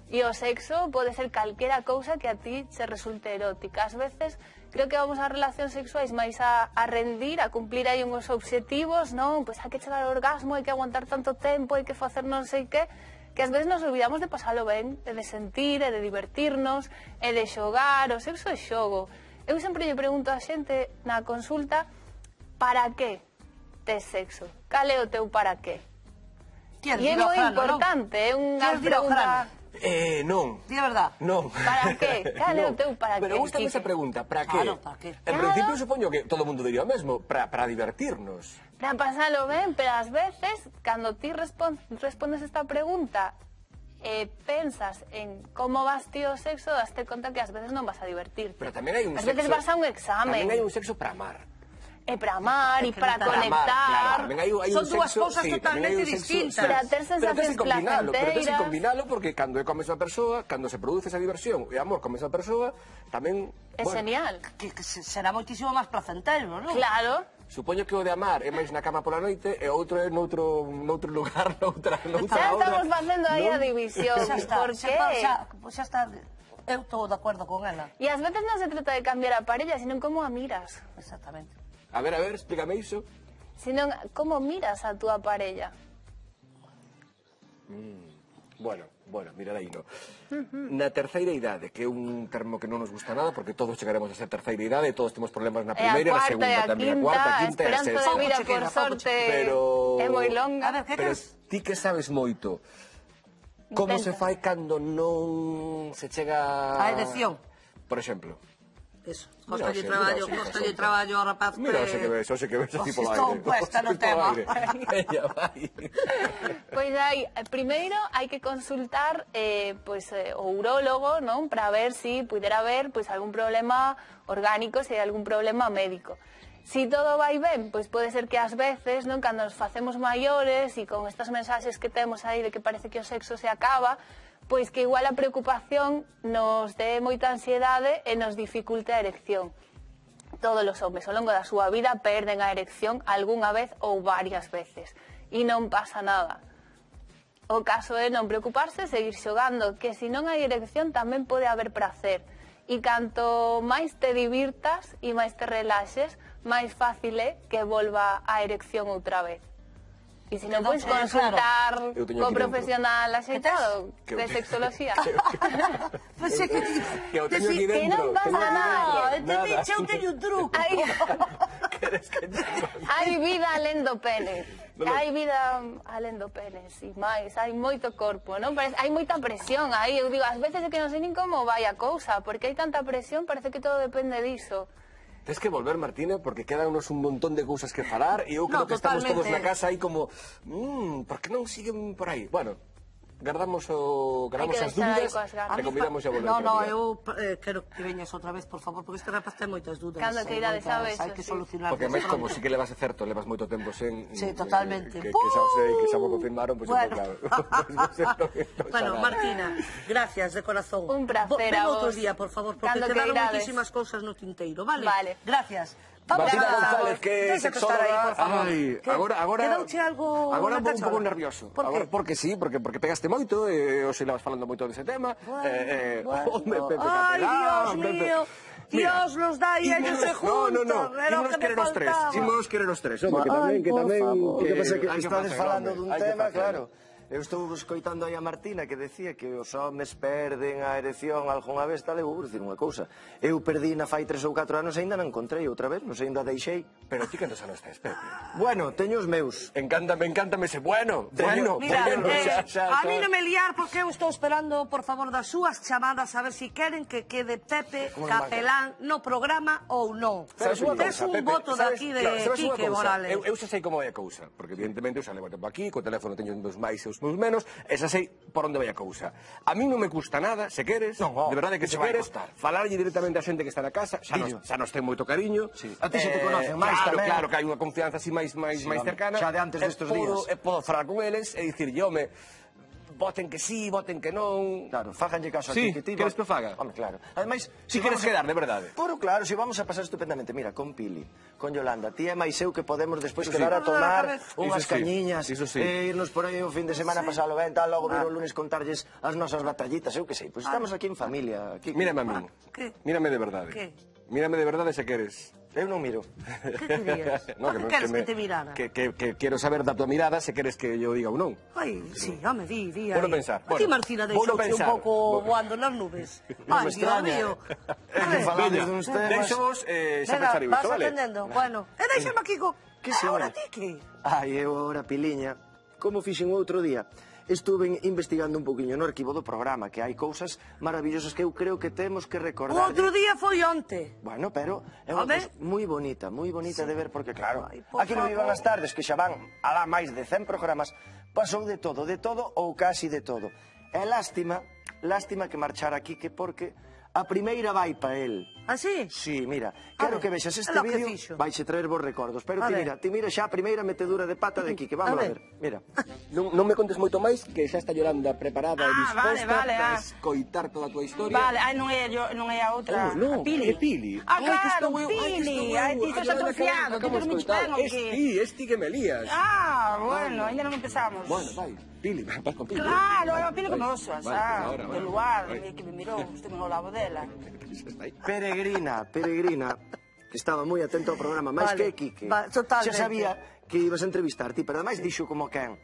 E o sexo pode ser calquera cousa que a ti se resulte erótica. Ás veces creo que vamos ás relacións sexuais máis a rendir, a cumplir aí uns obxectivos, non? Pois hai que chegar ao orgasmo, hai que aguantar tanto tempo, hai que facer non sei que ás veces nos olvidamos de pasalo ben, e de sentir, e de divertirnos, e de xogar. O sexo é xogo. Eu sempre lle pregunto a xente na consulta, para que tes sexo? Cal é o teu para que? E é moi importante, é unha pregunta... Non. Di a verdad. Non. Para que? Cal é o teu para que? Pero gustame esa pregunta, para que? Claro, para que. En principio supoño que todo o mundo diría o mesmo, para divertirnos. Para pasalo ben, pero ás veces, cando ti respondes esta pregunta e pensas en como vas ti o sexo, daste conta que ás veces non vas a divertirte. Pero tamén hai un Ás sexo... veces vas a un examen. Tamén hai un sexo para amar. E para amar, e para conectar. Son dúas cousas totalmente distintas. Para ter sensacións placenteras. Pero tens que combinalo porque cando é coa mesma persoa, cando se produce esa diversión e amor coa mesma persoa, tamén... É genial. Que será moitísimo máis placentero, non? Claro. Supoño que o de amar é máis na cama pola noite e outro é noutro lugar, noutra xa estamos facendo aí a división. Xa está, Por que? Xa está. Eu estou de acordo con ela. E ás veces non se trata de cambiar a parella, sino como a miras. Exactamente. A ver, explícame iso. Sino como miras a túa parella. Bueno, mirar aí, no. Na terceira idade, que é un termo que non nos gusta nada, porque todos chegaremos a ser terceira idade, todos temos problemas na primeira, na segunda tamén, a cuarta, a quinta e a esperanza sexta. de vida, por sorte, é moi longa. Pero ti que sabes moito, como se fai cando non se chega... A erección. Por exemplo. Eso, costalle traballo ao rapaz. Mira, xe que ves así polo aire. Estou puesta no tema. Pois aí, primeiro hai que consultar o urólogo, non? Para ver se pudera haber algún problema orgánico, se hai algún problema médico. Si todo vai ben, pois pode ser que ás veces, non, cando nos facemos maiores e con estas mensaxes que temos aí de que parece que o sexo se acaba, pois que igual a preocupación nos dé moita ansiedade e nos dificulte a erección. Todos os homes ao longo da súa vida perden a erección algunha vez ou varias veces e non pasa nada. O caso é non preocuparse, seguir xogando, que se non hai erección tamén pode haber prazer. E canto máis te divirtas e máis te relaxes, máis fácil é que volva a erección outra vez. E se non podes consultar co profesional axeitado de sexoloxía. Que o teño aquí dentro. Que non pasa nada. Eu teño un truco. Hai vida alén do pene. Hai vida alén do pene, e máis, hai moito corpo, non? Hai moita presión aí, eu digo, ás veces é que non sei nin como vai a cousa, porque hai tanta presión, parece que todo depende diso. Tens que volver, Martina, porque quedanos un montón de cousas que falar e eu creo que estamos todos na casa aí como por que non siguen por aí? Bueno, guardamos as dúbidas e convidamos a volver. No, eu quero que veñas outra vez, por favor, porque este rapaz ten moitas dúdas. Cando que irades a besos, hai que solucionar. Porque máis como si que levas certo, levas moito tempo sen... Sí, totalmente. Que xa sei, que xa mo confirmaron, pois claro. Bueno, Martina, gracias de corazón. Un placer a vos. Ven outro día, por favor, porque quedaron moitísimas cousas no tinteiro, vale? Vale. Gracias. Martina González, que é sexóloga. Agora un pouco nervioso. Por que? Porque sí, porque pegaste moito, e hoxe levas falando moito dese tema. Ai, Dios mío. Dios los da y ellos se juntan. No, ímonos querer os tres. Que tamén... O que pasa é que estades falando dun tema, claro. Eu estou escoitando aí a Martina que decía que os homes perden a erección algunha vez, tal, eu vou dicir unha cousa. Eu perdi na fai 3 ou 4 anos e ainda non encontrei outra vez, non sei, ainda deixei. Pero ti cantos anos tes, Pepe? Bueno, teño os meus. Encántame ese bueno. Mira, a mí non me liar porque eu estou esperando, por favor, das súas chamadas a ver se queren que quede Pepe Capelán no programa ou non. Tes un voto daqui de Quique Morales. Eu xa sei como vai a cousa, porque evidentemente eu xa levo tempo aquí, co teléfono teño uns máis e uns menos, e xa sei por onde vai a cousa. A mí non me custa nada, se queres, de verdade que se queres, falarlle directamente a xente que está na casa, xa nos ten moito cariño. A ti se te conocen máis tamén. Claro, que hai unha confianza así máis cercana. Xa de antes destes días. E podo falar con eles e dicirlle, home, voten que sí, voten que non. Claro, fáganlle caso Sí, aquí que ti. queres que o faga? Home, claro. Ademais, Si queres quedar, de verdade. Pero claro, si vamos a pasar estupendamente. Mira, con Pili, con Yolanda, ti e máis eu que podemos despois Iso quedar sí. a tomar unhas Iso sí, cañiñas, iso sí. irnos por aí o fin de semana, pasalo ben, tal, logo vir o lunes contarlles as nosas batallitas, eu que sei. Pois estamos aquí en familia. Aquí. Mírame a min. Que? Mírame de verdade. Que? Mírame de verdade se queres. Eu non miro. Que querías? No, Que queres que te mirara? Que quero saber da tua mirada se queres que yo diga ou non. Ai, sí, home, di. Vou pensar. A ti, Martina, deixouche un pouco voando nas nubes. Ai, Dios mío. Falamos duns temas. Deixo-vos xa Venga, pensar vas iso, vale? atendendo. Bueno, e deixame aquí co... Que se Ahora ora? ti que? Ai, eu agora, Piliña, como fixen outro día, estuve investigando un poquinho no arquivo do programa, que hai cousas maravillosas que eu creo que temos que O recordar. outro día foi onte. Bueno, pero é unha Home. cousa moi bonita de ver, porque claro, Ai, por aquí no Vivan favor. as tardes, que xa van alá máis de 100 programas, pasou de todo ou casi de todo. É lástima que marchar aquí, que porque a primeira vai pa el. Ah, sí? Sí, mira, quero ver, que vexas é este lo que vídeo, fixo. vaixe traer vos recordos, pero A ti ver. mira xa a primeira metedura de pata de aquí, que vamos a ver, mira. Non me contes moito máis, que xa está Yolanda preparada e disposta vale, para ah. escoitar toda a tua historia. Vale, non é a outra. Oh, non, a Pili. é Pili. Ah, Ai, que claro, estou eu, Pili. Ai, ti estás atrofiado, que dormiste ben ou que... Esti que me lías. Ah, bueno, ainda non empezamos. Bueno, vai, Pili, vas con Pili. Claro, é a Pili que me osas, Vale, ahora, do vale. lugar, Vai. que me mirou, estuve no lado dela. Peregrina, que estaba moi atento ao programa, máis Vale, que Quique. totalmente. Xa sabía que ibas a entrevistar ti, pero ademais dixo como quen.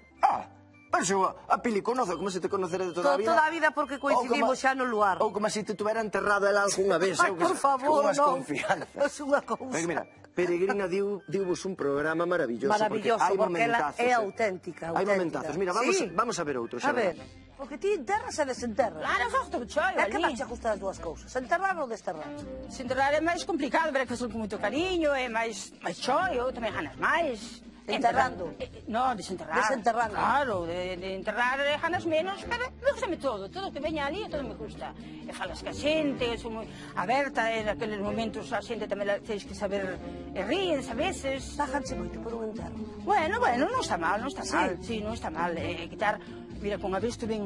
Pero a Pili conoce, como se te conocera de toda a vida. Toda a vida porque coincidimos xa no lugar. Ou como se te tuvera enterrado ela algunha vez. Ai, por favor, unhas non. confianzas. É unha cousa. Pero mira, Peregrina diuvos un programa maravilloso. Maravilloso, hai porque ela momentazos, é auténtica. Hai momentazos. Mira, Sí. vamos a ver outro. A ver, porque ti enterras e desenterras. Claro, faz todo choio É que ali. máis che gustan as dúas cousas? Enterrar ou desterrar? Se enterrar é máis complicado, pero é que facer con moito cariño, é máis choio, tamén ganas máis. Enterrando? No, desenterrar. Desenterrando. Claro, de enterrar ganas menos, pero me gustame todo que veña ali, todo me gusta. E falas ca xente, son moi aberta, e naqueles momentos a xente tamén tens que saber, e ríen a veces. Tájanse moito por un enterro. Bueno, non está mal, non está Sí. mal. Sí, non está mal. Quitar, mira, con a vez tuve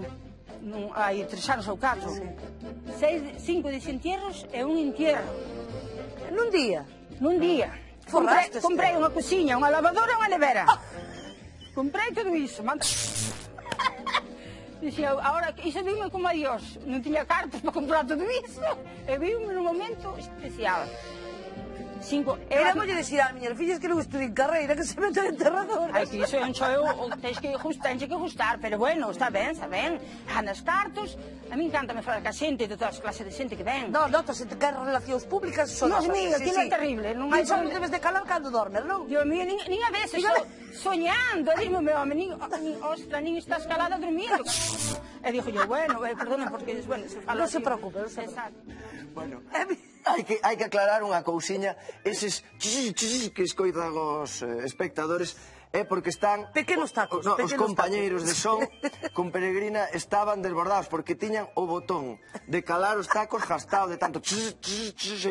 hai 3 anos ou 4, 5 desentierros e un entierro. Nun día? Nun día. Forraste Comprei unha cociña, unha lavadora e unha nevera. Comprei todo iso. Dixía, ahora, iso dime como a Dios. Non tiña cartas para comprar todo iso. E vime nun momento especial. Éramos dicir a miñas fillas que non estudien carreira, que se meten enterradoras. Ai, que iso é un choio, tens que gustar, pero bueno, está ben. Ganas cartos, a mí encanta me falar ca xente, de todas as clases de xente que ven. No, notas, que hai relacións públicas son Dios mío, aquilo é terrible. Non hai só debes de calar cando dormes, non? Dios mío, nin a veces, soñando, dime, meu home, ostra, nin estás calada dormindo. E dixo yo, bueno, perdone, porque, bueno, se fala Non se así. preocupe, non se Exacto. Bueno, hai que aclarar unha cousiña. Eses que escoitan os espectadores é porque están... Pequenos tacos. No, os compañeiros de son con Peregrina estaban desbordados porque tiñan o botón de calar os tacos gastado de tanto se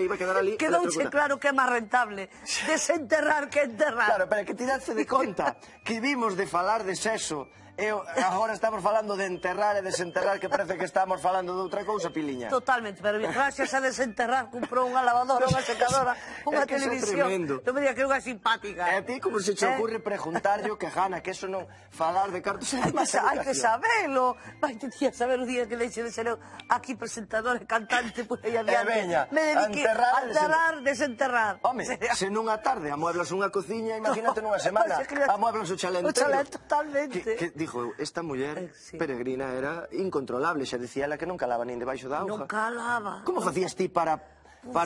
iba a quedar ali. Quedouche claro que é máis rentable desenterrar que enterrar. Claro, pero que ti darse de conta que vimos de falar de sexo e agora estamos falando de enterrar e desenterrar, que parece que estamos falando de outra cousa, Piliña. Totalmente, pero gracias a desenterrar comprou unha lavadora, unha secadora, unha que iso é televisión. tremendo. Non me diga que é unha simpática. E a ti como se che ocurre preguntarlle o que gana, que eso non falar de cartos é máis Hai que educación. sabelo. Vai te tía saber o día que deixe de ser eu aquí presentador e cantante por aí adiante. veña, Me dediqué a enterrar, desenterrar. Home, se nunha tarde amueblas unha cociña, imagínate nunha semana amueblas o chalé O entero. chalé totalmente. Que dixo eu, esta muller Peregrina era incontrolable, xa dicía ela que non calaba nin debaixo da auga. Non calaba. Como facías ti para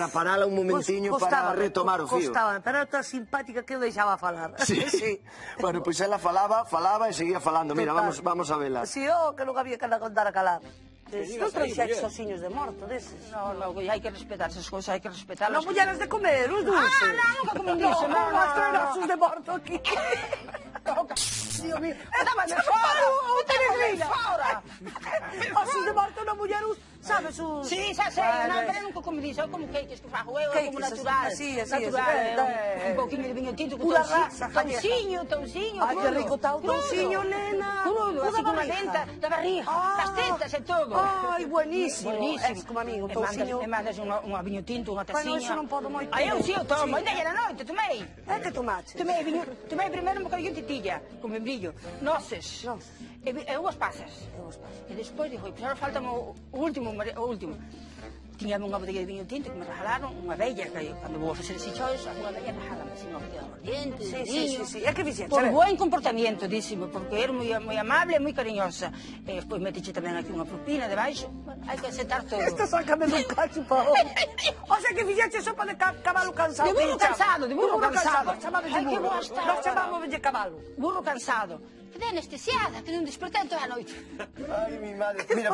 parala un momentiño para retomar o fío? Costaba, pero era tan simpática que eu deixaba falar. Sí. Bueno, pois ela falaba e seguía falando. Mira, vamos a vela. Si, que non había que contar a calar. Non trouxeches osiños de morto deses. No, hai que respetar esas cousas, hai que respetarlas. Non mulleras de comer, os dulces. Nunca comen disso, non hai osos de morto aquí. Dios mío, Dámame fora! Peregrina! Osos de morto na muller Sabes un... Sí, xa sei, pero nunca como dixo, como queques que fago eu, como natural. Así, un pouquinho de viño tinto, con touciño, ai, que rico está o touciño, nena. Crudo, así con a venta da barriga, das tetas e todo. Ai, buenísimo. É como a mí, un touciño. E mandas un viño tinto, unha taciña. Bueno, eso non podo moito. Ai, eu si, eu tomo, ainda era noite, tomei. É que tomaste? Tomei primeiro un bocadillo de titilla, con membrillo, noces. E unhas pasas. E despois dixo, pois agora falta o último. Tiñame unha botella de viño tinto que me regalaron, unha bella, que cando vou facer ese choios, unha bella regalame así unha botella de aguardiente, de viño. Sí, é que fixeche. Por buen comportamiento, dísimo, porque era moi amable e moi cariñosa. E despois meteche tamén aquí unha propina debaixo. Hai que aceptar todo. Esta sácame dun cacho pa o sea que fixeche sopa de cabalo cansado. De burro cansado, de burro cansado. Ai, que boa está. Nós chamamos de cabalo. Burro cansado. Quedé anestesiada, que non despertei toda a noite. Ai, mi madre. Mira,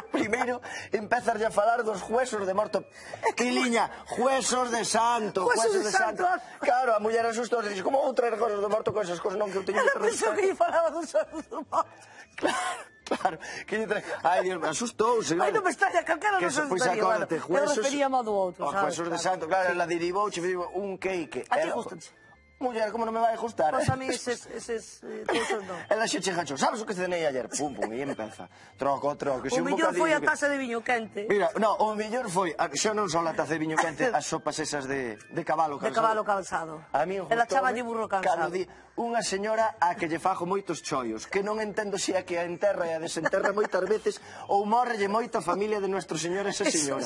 primeiro empezar a falar dos huesos de morto. Piliña, huesos de santo. Huesos de santo. Claro, a muller asustou e dixe, como vou traer huesos de morto con esas cosas? Non, que eu teño que Pensou que lle falaba dos huesos de morto. Claro, que lle trae... Ai, Dios, me asustou. Ai, non me extraña, calquera non se asustaría. Eu referíamos do outro, sabes? Huesos de santo, claro, la derivou, un cake. A ti gustanche? Muller, como non me vai a gustar? Pois a mí eses cousas non. Ela xe chegachou, sabes o que cenei ayer? Pum, e empeza. Troco. O mellor foi a taza de viño quente. Mira, no, o mellor foi, xa non só a taza de viño quente, as sopas esas de cabalo cansado. De cabalo cansado. A mí ela chamalle burro cansado. Unha señora a que lle fago moitos choios, que non entendo se a que a enterra e a desenterra moitas veces ou morrelle moita familia de Nuestro Señor esa señora.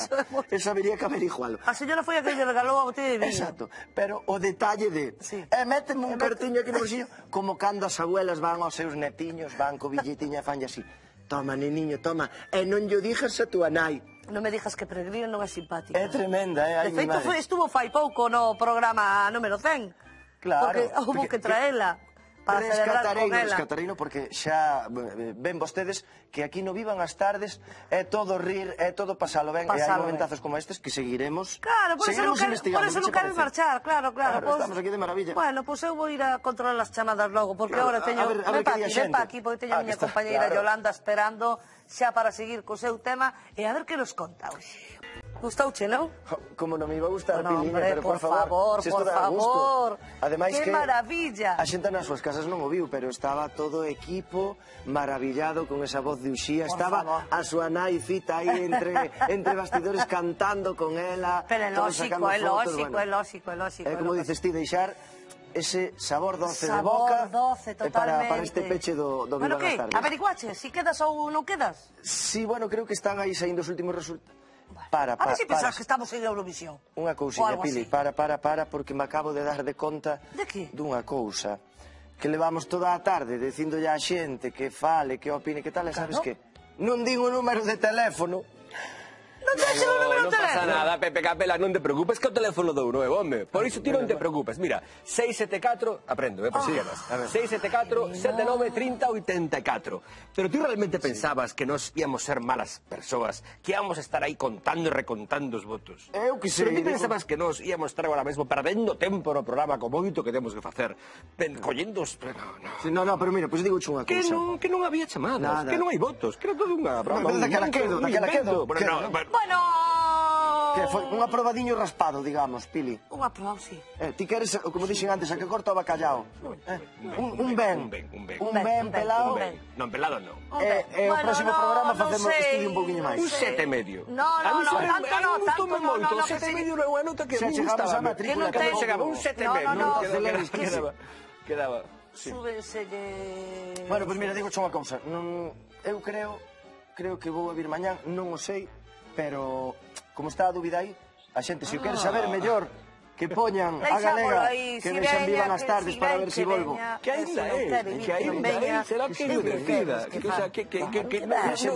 Esa habería que averigualo. A señora foi a que lle regalou a botella de viño. Exacto, pero o detalle de... E méteme un cartiño aquí no bolsillo, como cando as abuelas van aos seus netiños, van co billetiña e fanlle así. Toma, neniño, toma, e non lle dixas a túa nai. Non me dixas que Peregrina non é simpática. É tremenda, ai, mi madre. De feito, estuvo fai pouco no programa número 100. Claro. Porque houve que traela para celebrar con ela. Rescatareino, porque xa ven vostedes que aquí no Vivan as tardes é todo rir, é todo pasalo ben, e hai momentazos como estes que seguiremos investigando. Por eso non queres marchar, claro. Estamos aquí de maravilla. Bueno, pois eu vou ir a controlar as chamadas logo, porque agora teño... Ven pa aquí, porque teño a miña compañeira Yolanda esperando xa para seguir co seu tema, e a ver que nos conta hoxe. Gustouche, non? Como non me iba a gustar, Piliña, pero por favor, por favor. Ademais que maravilla. A xente nas súas casas non o viu, pero estaba todo o equipo maravillado con esa voz de Uxía. Estaba a súa nai Fita aí entre bastidores cantando con ela. Pero é lógico. É como dices ti, deixar ese sabor doce de boca para este peche do Vivan as tardes. Averiguache, si quedas ou non quedas? Sí, bueno, creo que están aí saindo os últimos resultados. A ver se pensas que estamos en Eurovisión. Unha cousiña, Pili, para, porque me acabo de dar de conta dunha cousa que levamos toda a tarde dicindolle á xente que fale, que opine, que tal, e sabes que non din o número de teléfono. Non te o número de teléfono? Non pasa nada, Pepe Capela, non te preocupes, que o teléfono dou novo, home. Por iso ti non te preocupes. Mira, 674, aprendo, por si quedas. 674 79 30 84. Pero ti realmente pensabas que nos íamos ser malas persoas, que íamos a estar aí contando e recontando os votos? Eu que sei. Pero ti pensabas que nos íamos estar agora mesmo perdendo tempo no programa con moito que temos que facer, collendo os... No, pero mira, pois digo unha cousa. Que non había chamadas, que non hai votos, que era todo unha broma. Daquela quedo. Bueno... Que foi un aprobadiño raspado, digamos, Pili. Un aprobado, sí. Ti queres, como dixen antes, a que corta o bacallao. Un ben pelado. Non, pelado non. E o próximo programa facemos estudio un poquinho máis. Un 7,5. No, tanto non. 7,5 non é unha nota que me gustaba. Que non ten... Chegaba un 7,5. Quedaba... Súbenselle... Bueno, pois mira, digo unha cousa. Eu creo que vou a vir mañán, non o sei, pero como está a dúbida aí, a xente, se o quere saber mellor, que poñan a galega, que vexan Vivan as tardes para ver se volvo. Que ainda é, será que ele decida.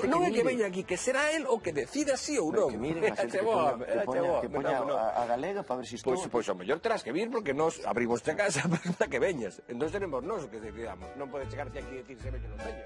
Non é que veña aquí, que será el o que decida si ou non. Que miren a xente que poña a galega para ver se estou. Pois ao mellor terás que vir, porque nos abrimos a casa para que veñas. Entón seremos nós que decidamos. Non pode chegarte aquí e decir se veño non veño.